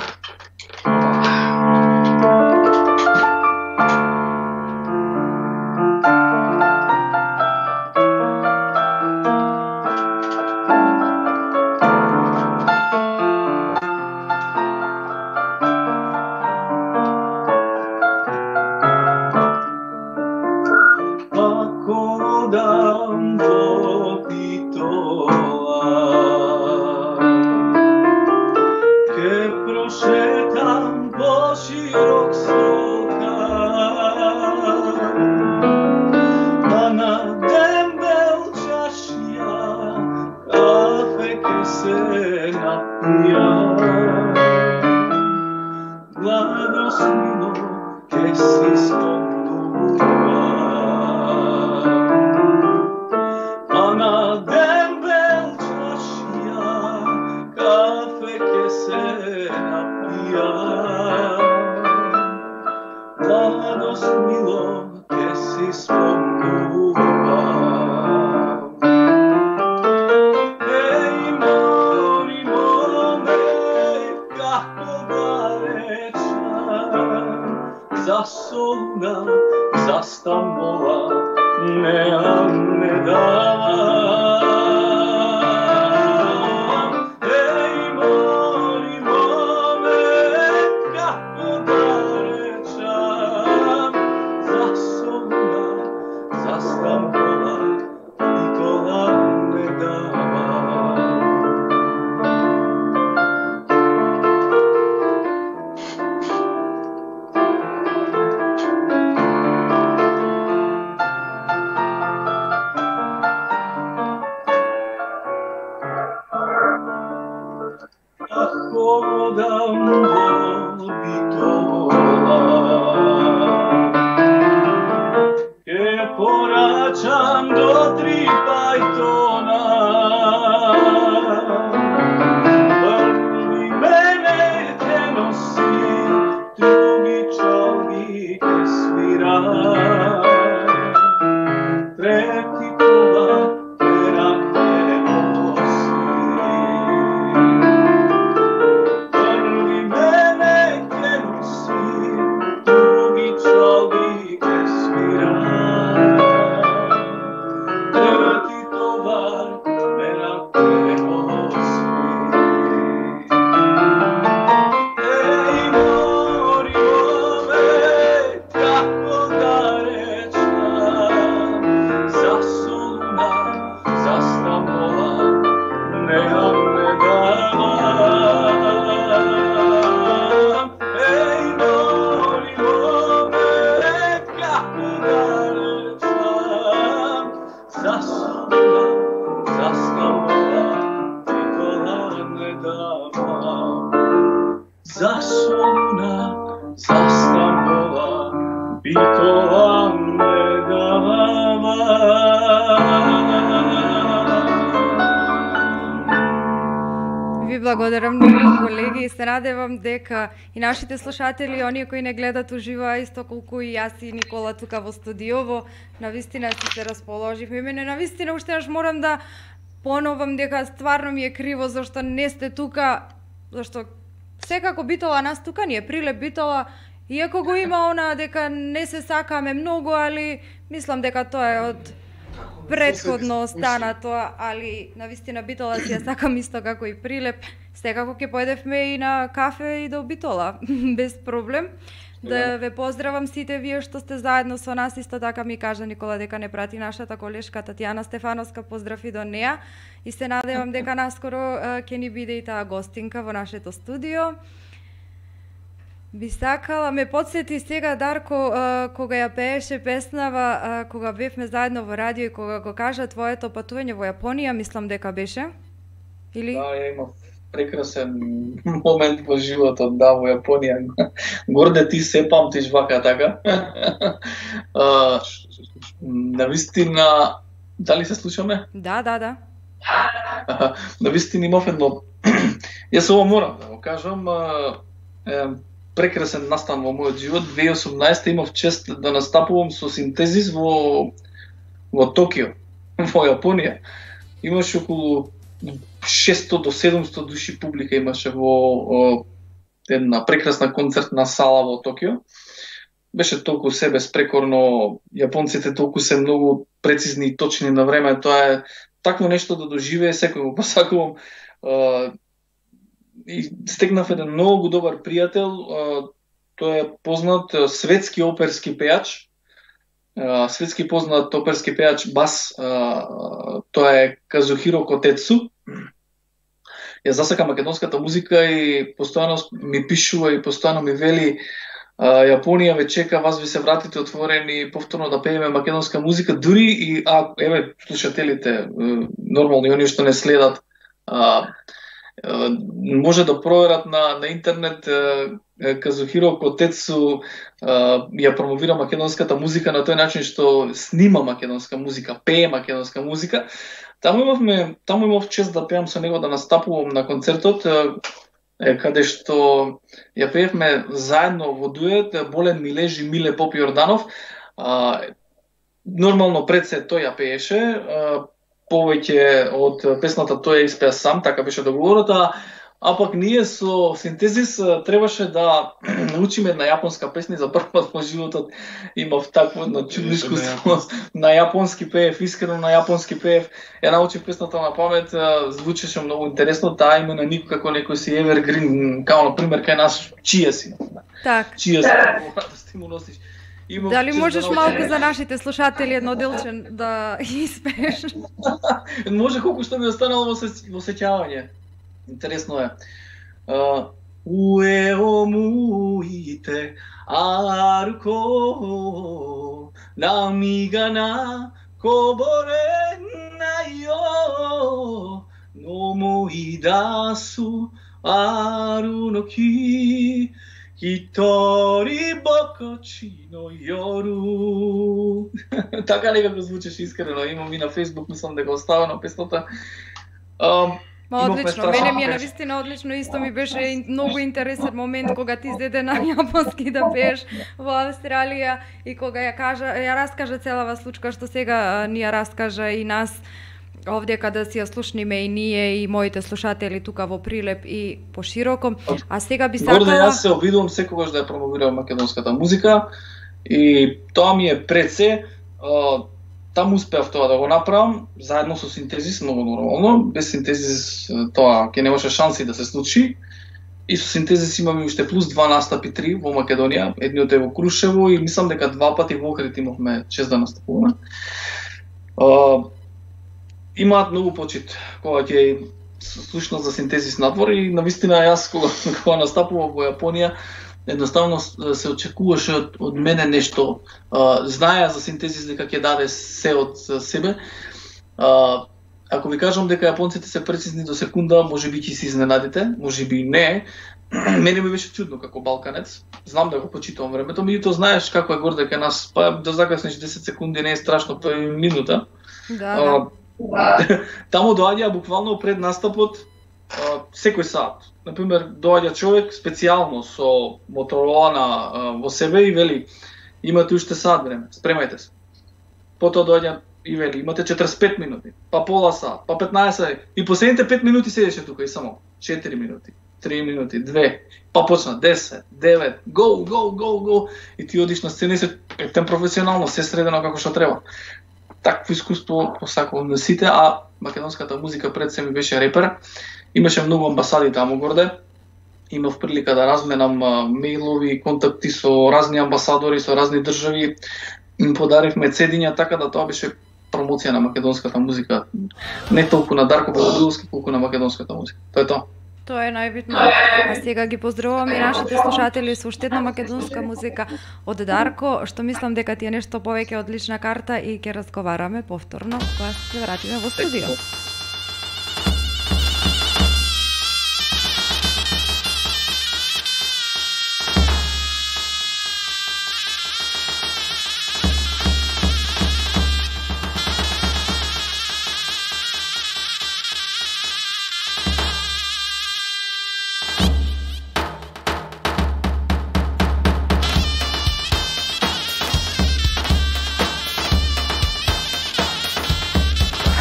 Ви благодарам многу, колеги, и се надевам дека и нашите слушатели, оние кои не гледат уживо, исто колку и јас и Никола тука во студиово, навистина си се расположивме. Мене навистина уште наш морам да поновам дека стварно ми е криво зашто не сте тука, зашто секако Битола нас тука ни е прилеп Битола, иако го има она дека не се сакаме многу, али мислам дека тоа е од предходно стана тоа, али навистина Битола си ја сакам исто како и Прилеп. Секако ќе поедевме и на кафе и до Битола, без проблем. Да ве поздравам сите вие што сте заедно со нас, исто така ми кажа Никола дека не прати нашата колешка Татјана Стефановска, поздрав и до неа. И се надевам дека наскоро ќе ни биде и таа гостинка во нашето студио. Би сакала, ме подсети сега Дарко, кога ја пееше песнава, кога бевме заедно во радио и кога го кажа твоето патување во Јапонија, мислам дека беше? Или? Да, ја имав прекрасен момент во животот, да, во Јапонија. Горде ти се памтиш вака така. а, навистина, дали се слушаме? Да, да, да. Навистина имав едно, јас ово морам да го кажам, е, прекрасен настан во мојот живот. две илјади и осумнаесета имав чест да настапувам со Синтезис во во Токио, во Јапонија. Имаше околу шесто до седумсто души публика имаше во една прекрасна концертна сала во Токио. Беше толку се безпрекорно, јапонците толку се многу прецизни и точни на време. Тоа е такво нешто да доживее, секој го посакувам. И стекнав еден многу добар пријател, тој е познат светски оперски пејач, светски познат оперски пејач бас, тоа е Казухиро Котецу. Ја засака македонската музика и постојано ми пишува и постојано ми вели Јапонија ве чека, вас ви се вратите отворени повторно да пееме македонска музика, дури и а еве слушателите, нормално оние што не следат, може да проверат на, на интернет. Казухиро Котецу ја промовира македонската музика на тој начин што снима македонска музика, пее македонска музика. Таму имавме, таму имав чест да пеам со него, да настапувам на концертот, каде што ја пеевме заедно во дует, Болен ми лежи Миле Поп Јорданов. Нормално пред се тој ја пееше, повеќе од песната тој ја испеа сам, така беше договората, а пак ние со Синтезис требаше да научиме една јапонска песна. За прв пат во животот имав такво на чудно искуство. На јапонски пеев, искрено на јапонски пеев. Ја научив песната на памет, звучеше многу интересно, таа има на нико како некој си Evergreen, као на пример кај нас чија си. Так. Чија си, да стиму носиш. Имам Дали можеш да малку за нашите слушатели едно делче да испееш? Може колку што ми останало во, се, во сеќавање. Интересно е. Уе омуите аруко намига на кобореннаи yo no moidasu aru no ki Hitori bokochi no yoru. Така некако звучеше искрено. Имам и на Facebook, мислам дека оставено песната. Um, Ма одлично, мене ми е навистина одлично, исто ми беше многу интересен момент кога ти изеде на јапонски да пееш во Австралија и кога ја кажа, ја раскажа целава случка што сега ни ја раскажа и нас овде када си ја слушниме и ние и моите слушатели тука во Прилеп и пошироко. А сега би сакала... Горде, јас се обидувам секогаш да ја промовирам македонската музика и тоа ми е пред се. Таму успеав тоа да го направам, заедно со Синтезис, многу нормално. Без Синтезис тоа ќе немаше шанси да се случи. И со Синтезис имаме уште плюс два настапи, три во Македонија, едниот е во Крушево и мислам дека два пати во Охрид имавме чест да настапуваме. Имаат многу почит кога ќе слушнат за Синтезис надвор и навистина јас кога, кога настапував во Јапонија, едноставно се очекуваше од, од мене нешто. А, знаеа за Синтезис дека ќе даде се од себе. А, ако ви кажам дека јапонците се прецизни до секунда, може би ќе се изненадите, може би не. Мене ми беше чудно како балканец. Знам да го почитувам времето, меѓутоа знаеш како е горде кај нас, па да закаснеш десет секунди не е страшно, па минута. Да, да. А, таму доаѓаа буквално пред настапот, секој сат. Например, доаѓа човек специјално со Моторолана во себе и вели имате уште сат време, спремајте се. Потоа доаѓа и вели имате четиридесет и пет минути, па пола сат, па петнаесет и последните пет минути седеше тука и само четири минути, три минути, две, па почна десет, девет, go, go, go, go и ти одиш на сцена и се ектен професионално, се средено како што треба. Такво искуство посакувам на сите, а македонската музика пред се ми беше репер. Имаше многу амбасади таму горде. Имав прилика да разменам мејлови, контакти со разни амбасадори, со разни држави. Им подаривме цедиња, така да тоа беше промоција на македонската музика. Не толку на Дарко Белобиловски, колку на македонската музика. Тоа е тоа. Тоа е најбитно. А сега ги поздравувам и нашите слушатели со уште една македонска музика од Дарко, што мислам дека ти е нешто повеќе од лична карта и ќе разговараме повторно кога се вратиме во студио.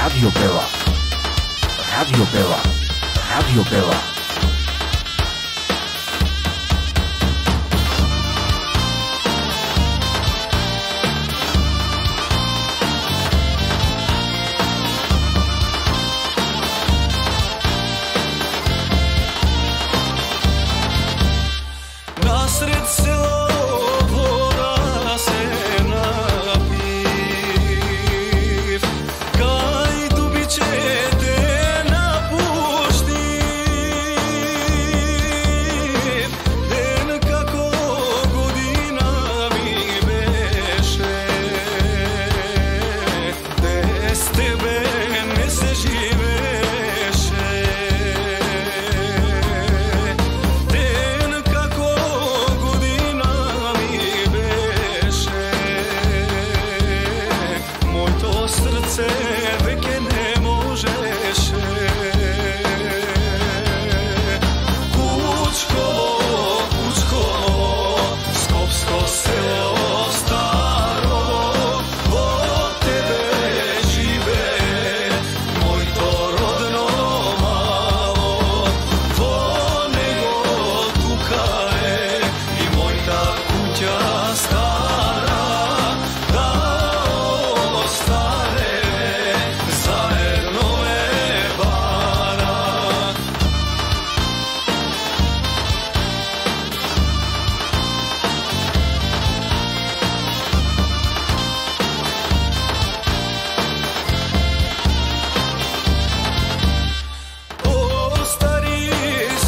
Radio Bela. Radio Bela. Radio Bela. Насред село вода се напив, кај дубичете напуштив, ден како година ми беше, без тебе не се живеше. Ден како година ми беше, моето срце веќе не можеше. Кучково, Кучково, скопско село старо, во тебе живее моето родно мало, во него тука е и мојта куќа стара, да остане заедно е бара. Остари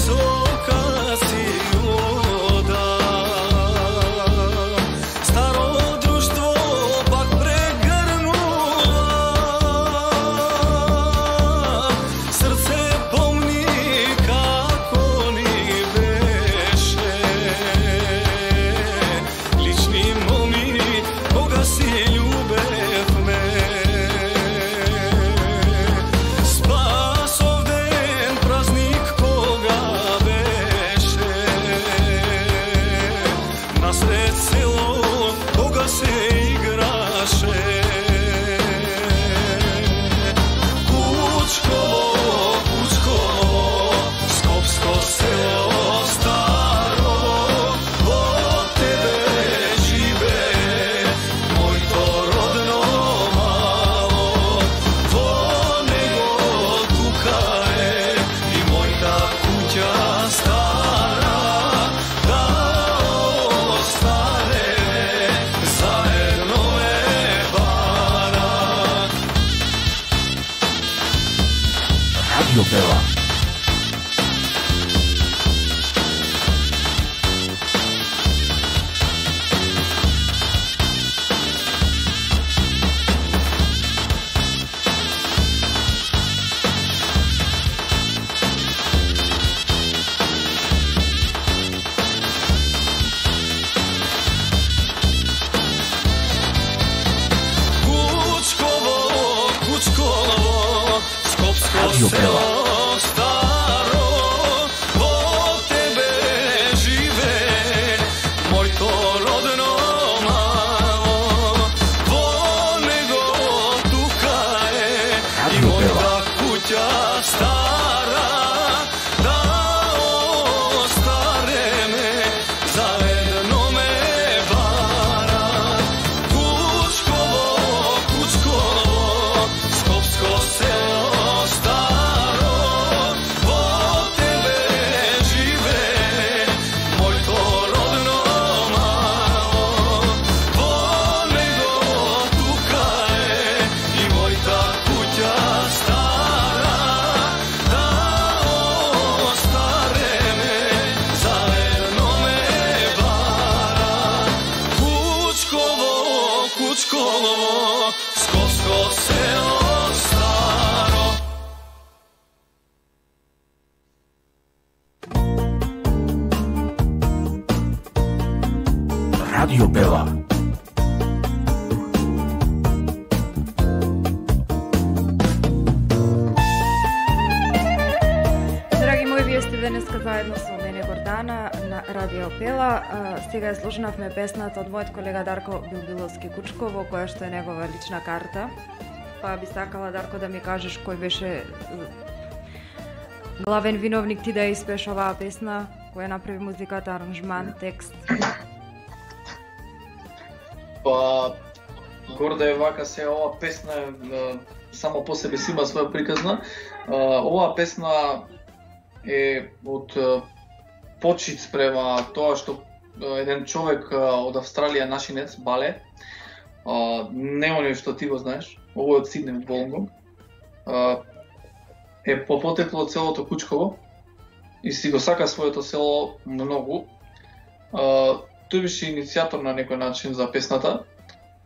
со каси вода, старо друштво пак прегрнува, срце помни како ни беше, лични момини кога си љубевме. Спасов ден, празник кога беше, насред село кога се играше. Кучково, Кучково, скопско село старо, во тебе живее моето родно мало, во него тука е и мојта куќа стара, да остане заедно е бара. Radio Bela. Кучково, Кучково, скопско Radio Bela. село старо, stara, da ostare me, zajedno me vara. Kučkovo, Kučkovo, skopsko selo staro, od tebe žive moj to rodno malo. Vo nego tuka je i moj ta kuća stara, da ostare me, zajedno me vara. Kučkovo, Kučkovo, skopsko selo staro. Radio Bela. Драги мои, вие сте денеска заедно со мене Гордана на Радио Пела. А, Сега ја слушнавме песната од мојот колега Дарко Билбиловски Кучково, која што е негова лична карта. Па би сакала, Дарко, да ми кажеш кој беше главен виновник ти да ја испееш оваа песна, која направи музиката, аранжман, текст. Па, горда е вака се, ова песна е, само по себе си има своја приказна. А, Оваа песна е од е, почит спрема тоа што е, еден човек е, од Австралија, нашинец, Бале, а, не оној што ти го знаеш, овој од Сиднеј, од Волонгонг, а, е по потекло од селото Кучково и си го сака своето село многу. А, Тој беше иницијатор на некој начин за песната.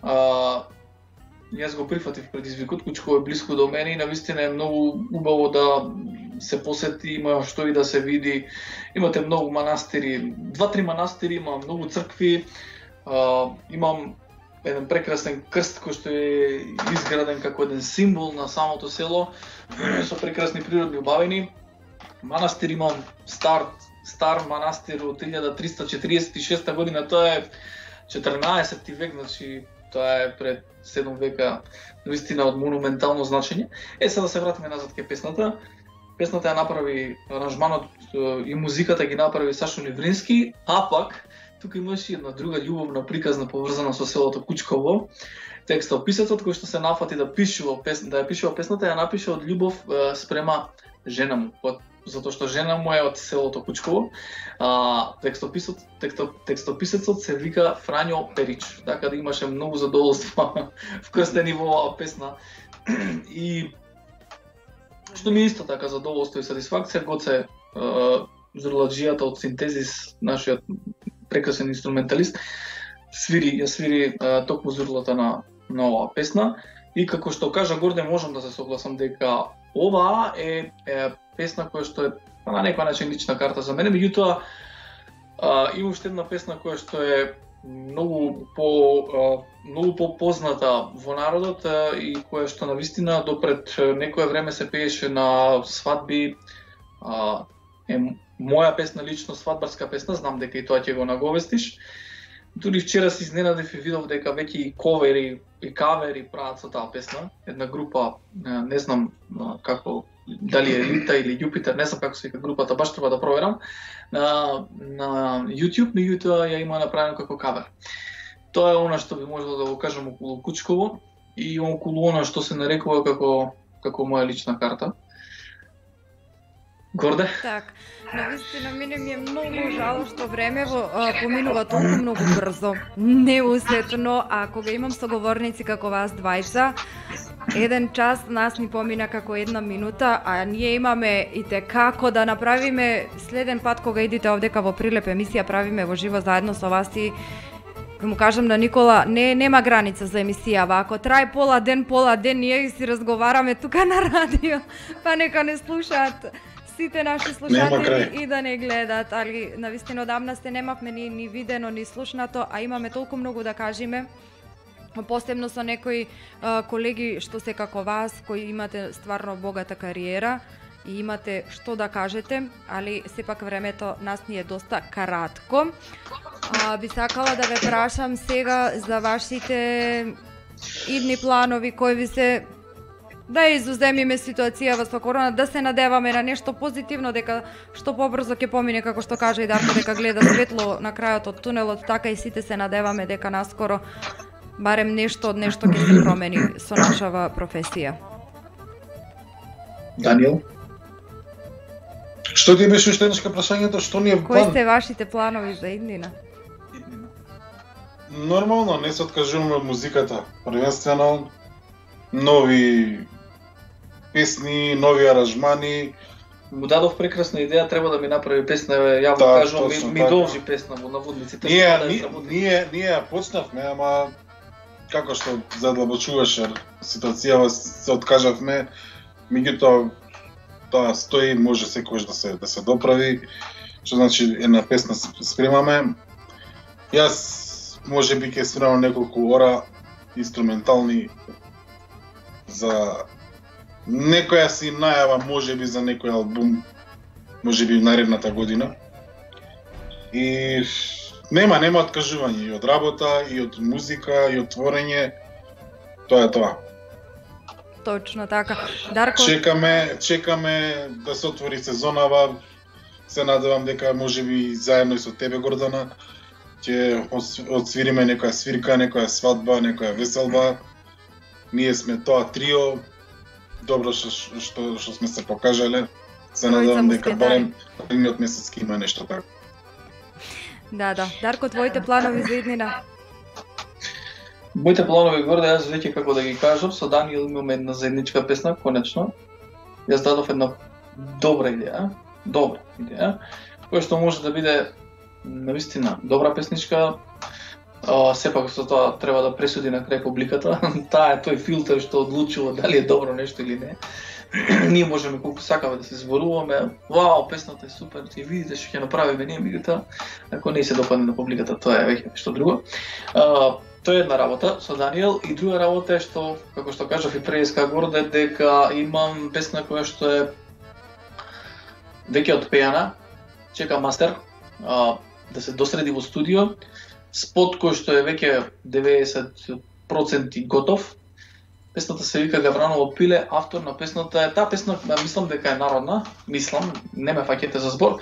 А, Јас го прифатив предизвикот, Кучково е блиско до мене и навистина е многу убаво да се посети, има што и да се види. Имате многу манастири, два-три манастири, има многу цркви. А, имам еден прекрасен крст кој што е изграден како еден символ на самото село, со прекрасни природни убавини. Манастир имам стар, стар манастир од илјада триста четиридесет и шеста година, тоа е четрнаесети век, значи тоа е пред седум века, наистина од монументално значење. Е, сега да се вратиме назад кај песната. Песната ја направи, аранжманот и музиката ги направи Сашо Неврински, а пак тука имаше една друга љубовна приказна поврзана со селото Кучково. Текстописецот кој што се нафати да пишува песна, да ја пишува песната, ја напише од љубов е, спрема жена му, затоа што жена му е од селото Кучково. А, текстописецот, тексто, текстописецот се вика Фрањо Перич, така да имаше многу задоволства вкрстени во оваа песна. И што ми е исто така задоволство и сатисфакција, Гоце Зурладжијата од Синтезис, нашиот прекрасен инструменталист, свири, ја свири а, токму зурлата на, на оваа песна. И како што кажа Горде, можам да се согласам дека оваа е, е песна која што е на некој начин лична карта за мене, меѓутоа има уште една песна која што е многу по а, многу попозната во народот а, и која што навистина допред некое време се пееше на свадби. А, е моја песна лично, свадбарска песна, знам дека и тоа ќе го наговестиш. Дури вчера се изненадив и видов дека веќе и ковери и кавери прават со таа песна. Една група, не знам како, дали е Лита или Јупитер, не знам како се вика групата, баш треба да проверам, на, на YouTube, меѓутоа ја има направено како кавер. Тоа е она што би можело да го кажам околу Кучково и околу она што се нарекува како, како моја лична карта. Горде? Так, навистина мене ми е многу жало што времево а, поминува толку многу брзо, неусетно, а кога имам соговорници како вас двајца, еден час нас ни помина како една минута, а ние имаме и те како да направиме следен пат кога идите овдека во Прилеп емисија, правиме во живо заедно со вас и ќе му кажам на Никола, не нема граница за емисијава, ако трае пола ден, пола ден, ние си разговараме тука на радио, па нека не слушаат сите наши слушатели и да не гледат, али навистина одамна се немавме ни, ни видено, ни слушнато, а имаме толку многу да кажеме, посебно со некои а, колеги што се како вас, кои имате стварно богата кариера и имате што да кажете, али сепак времето нас ни е доста кратко. А, би сакала да ве прашам сега за вашите идни планови, кои ви се да изуземиме ситуацијава со корона, да се надеваме на нешто позитивно, дека што побрзо ќе помине, како што кажа и Дарко, дека гледа светло на крајот од тунелот, така и сите се надеваме дека наскоро барем нешто од нешто ќе се промени со нашава професија. Даниел? Што ти беше уште еднашка прашањето, што ни е Кои план? сте вашите планови за иднина? Нормално, не се откажуваме од музиката. Првенствено, нови песни, нови аранжмани. Му дадов прекрасна идеја, треба да ми направи песна, јавно Так, кажувам, ми, точно ми така. должи песна во наводниците. Ние, што да ја ние, сработи. ние, ние ја почнавме, ама како што задлабочуваше ситуацијава, се откажавме, меѓутоа тоа стои, може секогаш да се да се доправи, што значи една песна спремаме. Јас можеби ќе спремам неколку ора инструментални за некоја си најава, можеби за некој албум, можеби наредната година. И нема, нема откажување и од работа, и од музика, и од творење. Тоа е тоа. Точно така. Дарко, Чекаме, чекаме да се отвори сезонава. Се надевам дека можеби заедно и со тебе, Гордана, ќе отсвириме некоја свирка, некоја свадба, некоја веселба. Ние сме тоа трио. Добро што што што сме се покажале. Се Тројца надевам дека мускетари. барем едниот месец ќе има нешто така. да, да. Дарко, твоите планови за иднина? Моите планови горде, јас веќе како да ги кажам, со Даниел имаме една заедничка песна, конечно. Јас дадов една добра идеја, добра идеја, која што може да биде навистина добра песничка. А, сепак со тоа треба да пресуди на крај публиката. Таа е тој филтер што одлучува дали е добро нешто или не. Ние можеме колку сакаме да се зборуваме, вау, песната е супер, ти видите што ќе направиме ние, меѓутоа ако не се допадне на публиката, тоа е веќе нешто друго. А, тоа е една работа со Даниел и друга работа е што, како што кажав и преска горде, дека имам песна која што е веќе отпеана, чека мастер, а, да се досреди во студио, спот кој што е веќе деветдесет проценти готов. Песната се вика Гавраново пиле, автор на песната е, таа песна, мислам дека е народна, мислам, не ме фаќете за збор,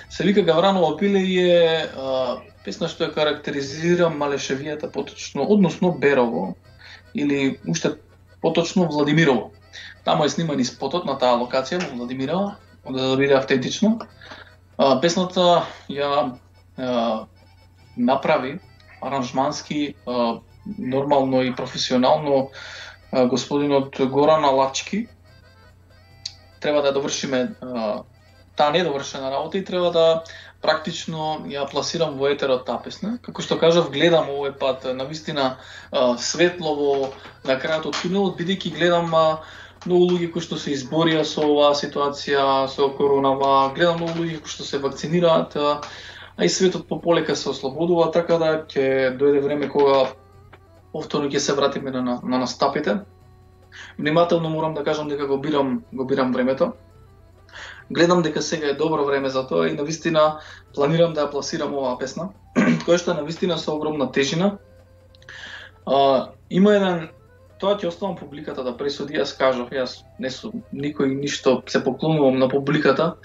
се вика Гавраново пиле и е а, песна што ја карактеризира Малешевијата поточно, односно Берово, или уште поточно Владимирово. Таму е сниман и спотот на таа локација во Владимирово, за да биде автентично. А, песната ја а, направи аранжмански, а, нормално и професионално господинот Горан Алачки. Треба да довршиме а, таа недовршена работа и треба да практично ја пласирам во етерот таа песна. Како што кажав, гледам овој пат навистина а, светлово на крајот од тунелот, бидејќи гледам а, многу луѓе кои што се изборија со оваа ситуација, со коронава, гледам многу луѓе кои што се вакцинираат, а, а и светот пополека се ослободува, така да ќе дојде време кога повторно ќе се вратиме на, на, на настапите. Внимателно морам да кажам дека го бирам, го бирам времето. Гледам дека сега е добро време за тоа и навистина планирам да ја пласирам оваа песна, која што е навистина со огромна тежина. А, има еден, тоа ќе оставам публиката да пресуди, јас кажав, јас не сум никој ништо се поклонувам на публиката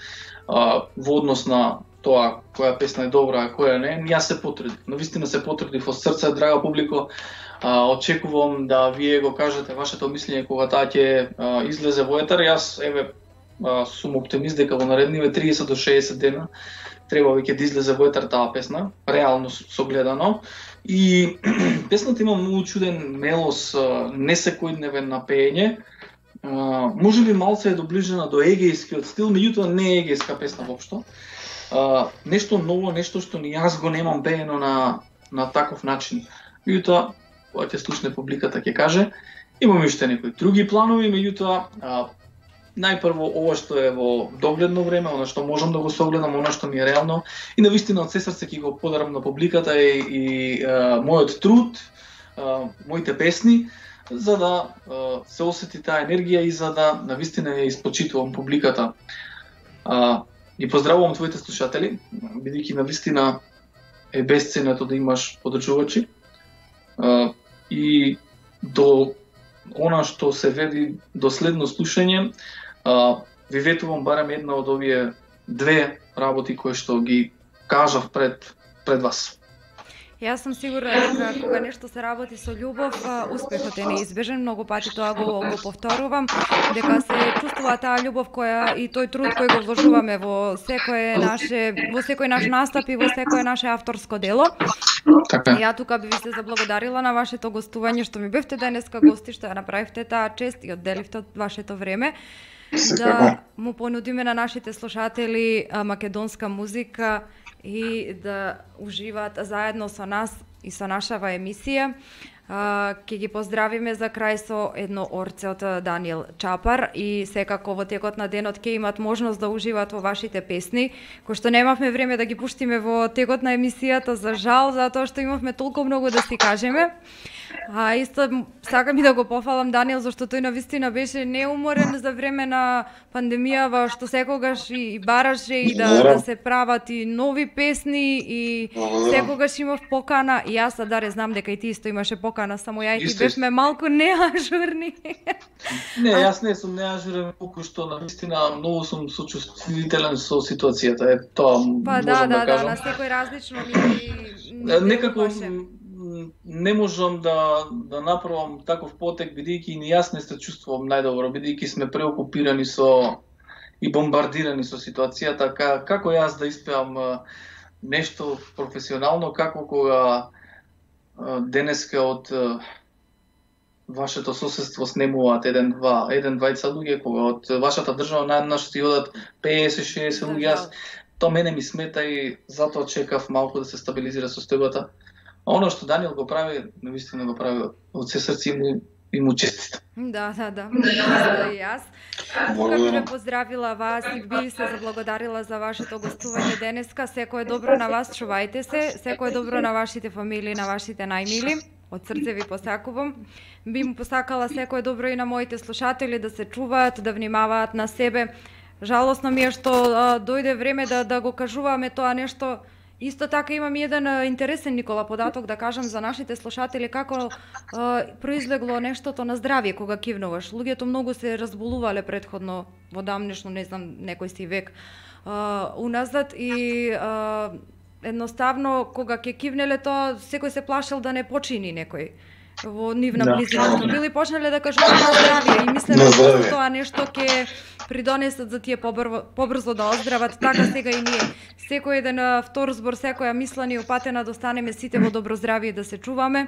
а, во однос на тоа која песна е добра, а која не. Јас се потрудив, навистина се потрудив од срце, драга публико. А, очекувам да вие го кажете вашето мислење кога таа ќе а, излезе во етер. Јас еве а, сум оптимист дека во наредниве триесет до шеесет дена треба веќе да излезе во етер таа песна, реално согледано. И песната има многу чуден мелос, не секојдневен на пеење. А, може би малце е доближена до егејскиот стил, меѓутоа не е егејска песна воопшто. А, нешто ново, нешто што ни јас го немам пеено на на таков начин. Меѓутоа кога ќе слушне публиката ќе каже. Имаме уште некои други планови, меѓутоа најпрво ова што е во догледно време, она што можам да го согледам, она што ми е реално и навистина од се срце ќе го подарам на публиката и, и а, мојот труд, а, моите песни, за да а, се осети таа енергија и за да навистина ја испочитувам публиката. А, и поздравувам твоите слушатели, бидејќи навистина е бесценето да имаш подржувачи. А, и до она што се веди доследно слушање, а, ви ветувам барем една од овие две работи кои што ги кажав пред пред вас. Јас сум сигурна дека кога нешто се работи со љубов, успехот е неизбежен. Многу пати тоа го, го повторувам, дека се чувствува таа љубов која и тој труд кој го вложуваме во секое наше, во секој наш настап и во секое наше авторско дело. Така. Ја тука би ви се заблагодарила на вашето гостување, што ми бевте денеска гости, што ја направивте таа чест и одделивте од вашето време. Да му понудиме на нашите слушатели македонска музика и да уживаат заедно со нас и со нашава емисија. Ќе ги поздравиме за крај со едно орце од Даниел Чапар и секако во текот на денот ќе имат можност да уживаат во вашите песни, кои што немавме време да ги пуштиме во текот на емисијата, за жал, затоа што имавме толку многу да си кажеме. А исто сакам и да го пофалам Даниел, зашто тој навистина беше неуморен за време на пандемијава, што секогаш и бараше и да, да се прават и нови песни и секогаш имав покана и јас Адаре знам дека и ти исто имаше покана, само ја и ти бевме малку неажурни. Не, јас не сум неажурен, колку што навистина многу сум сочувствителен со ситуацијата. Е тоа па, можам да, да, да, кажам. Да, на секој различно ни некако не можам да да направам таков потек, бидејќи и јас не се чувствувам најдобро, бидејќи сме преокупирани со и бомбардирани со ситуацијата. Како јас да испеам нешто професионално, како кога денеска од вашето соседство снемуваат еден два еден двајца луѓе, кога од вашата држава на еднаш ти одат песет шеесет луѓе. Јас тоа мене ми смета и затоа чекав малку да се стабилизира состојбата. А оно што Даниел го прави, навистина го прави од се срце и му, и му честит. Да, да, да, да и јас. Тука би ве поздравила вас и би се заблагодарила за вашето гостување денеска. Секое добро на вас, чувајте се, секое добро на вашите фамилии, на вашите најмили. Од срце ви посакувам. Би му посакала секое добро и на моите слушатели, да се чуваат, да внимаваат на себе. Жалосно ми е што а, дојде време да да го кажуваме тоа нешто. Исто така имам еден интересен, Никола, податок да кажам за нашите слушатели како е, произлегло нештото на здравје кога кивнуваш. Луѓето многу се разболувале претходно во дамнешно, не знам, некој си век е, уназад и е, едноставно кога ќе кивнеле тоа секој се плашел да не почини некој во нивна да. близина, што били почнале да кажуваат на здравје и мислеле дека тоа нешто ќе придонесат за тие побрзо, побрзо да оздрават. Така сега и ние. Секој еден втор збор, секоја мисла ни упатена да останеме сите во добро здравје, да се чуваме,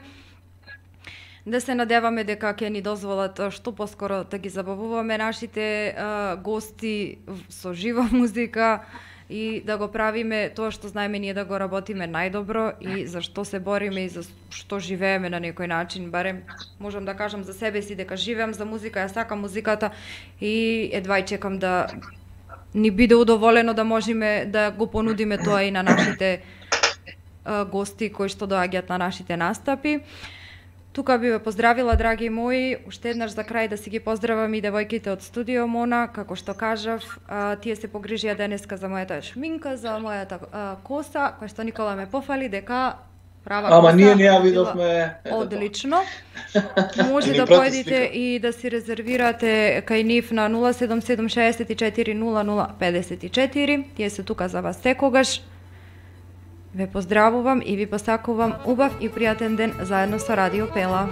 да се надеваме дека ќе ни дозволат што поскоро да ги забавуваме нашите а, гости со жива музика и да го правиме тоа што знаеме ние да го работиме најдобро и за што се бориме и за што живееме на некој начин. Барем можам да кажам за себе си дека живеам за музика, ја сакам музиката и едва и чекам да ни биде удоволено да можеме да го понудиме тоа и на нашите а, гости кои што доаѓаат на нашите настапи. Тука би ве поздравила, драги мои, уште еднаш за крај да си ги поздравам и девојките од студио Мона, како што кажав, а, тие се погрижија денеска за мојата шминка, за мојата а, коса, која што Никола ме пофали дека права Ама коса. ние не ја видовме. Одлично. Може да појдете и да си резервирате кај нив на нула седум седум шеесет четири нула нула педесет и четири. Тие се тука за вас секогаш. Ве поздравувам и ви посакувам убав и пријатен ден заедно со Радио Пела.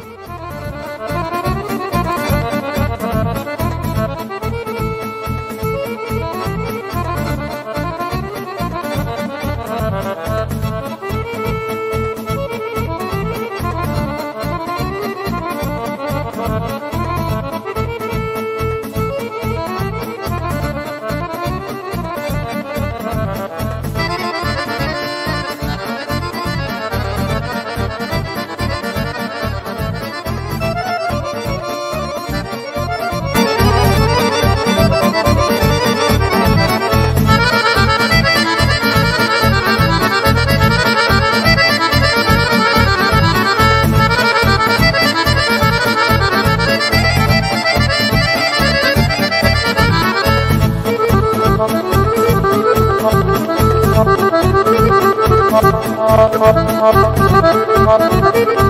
Thank you.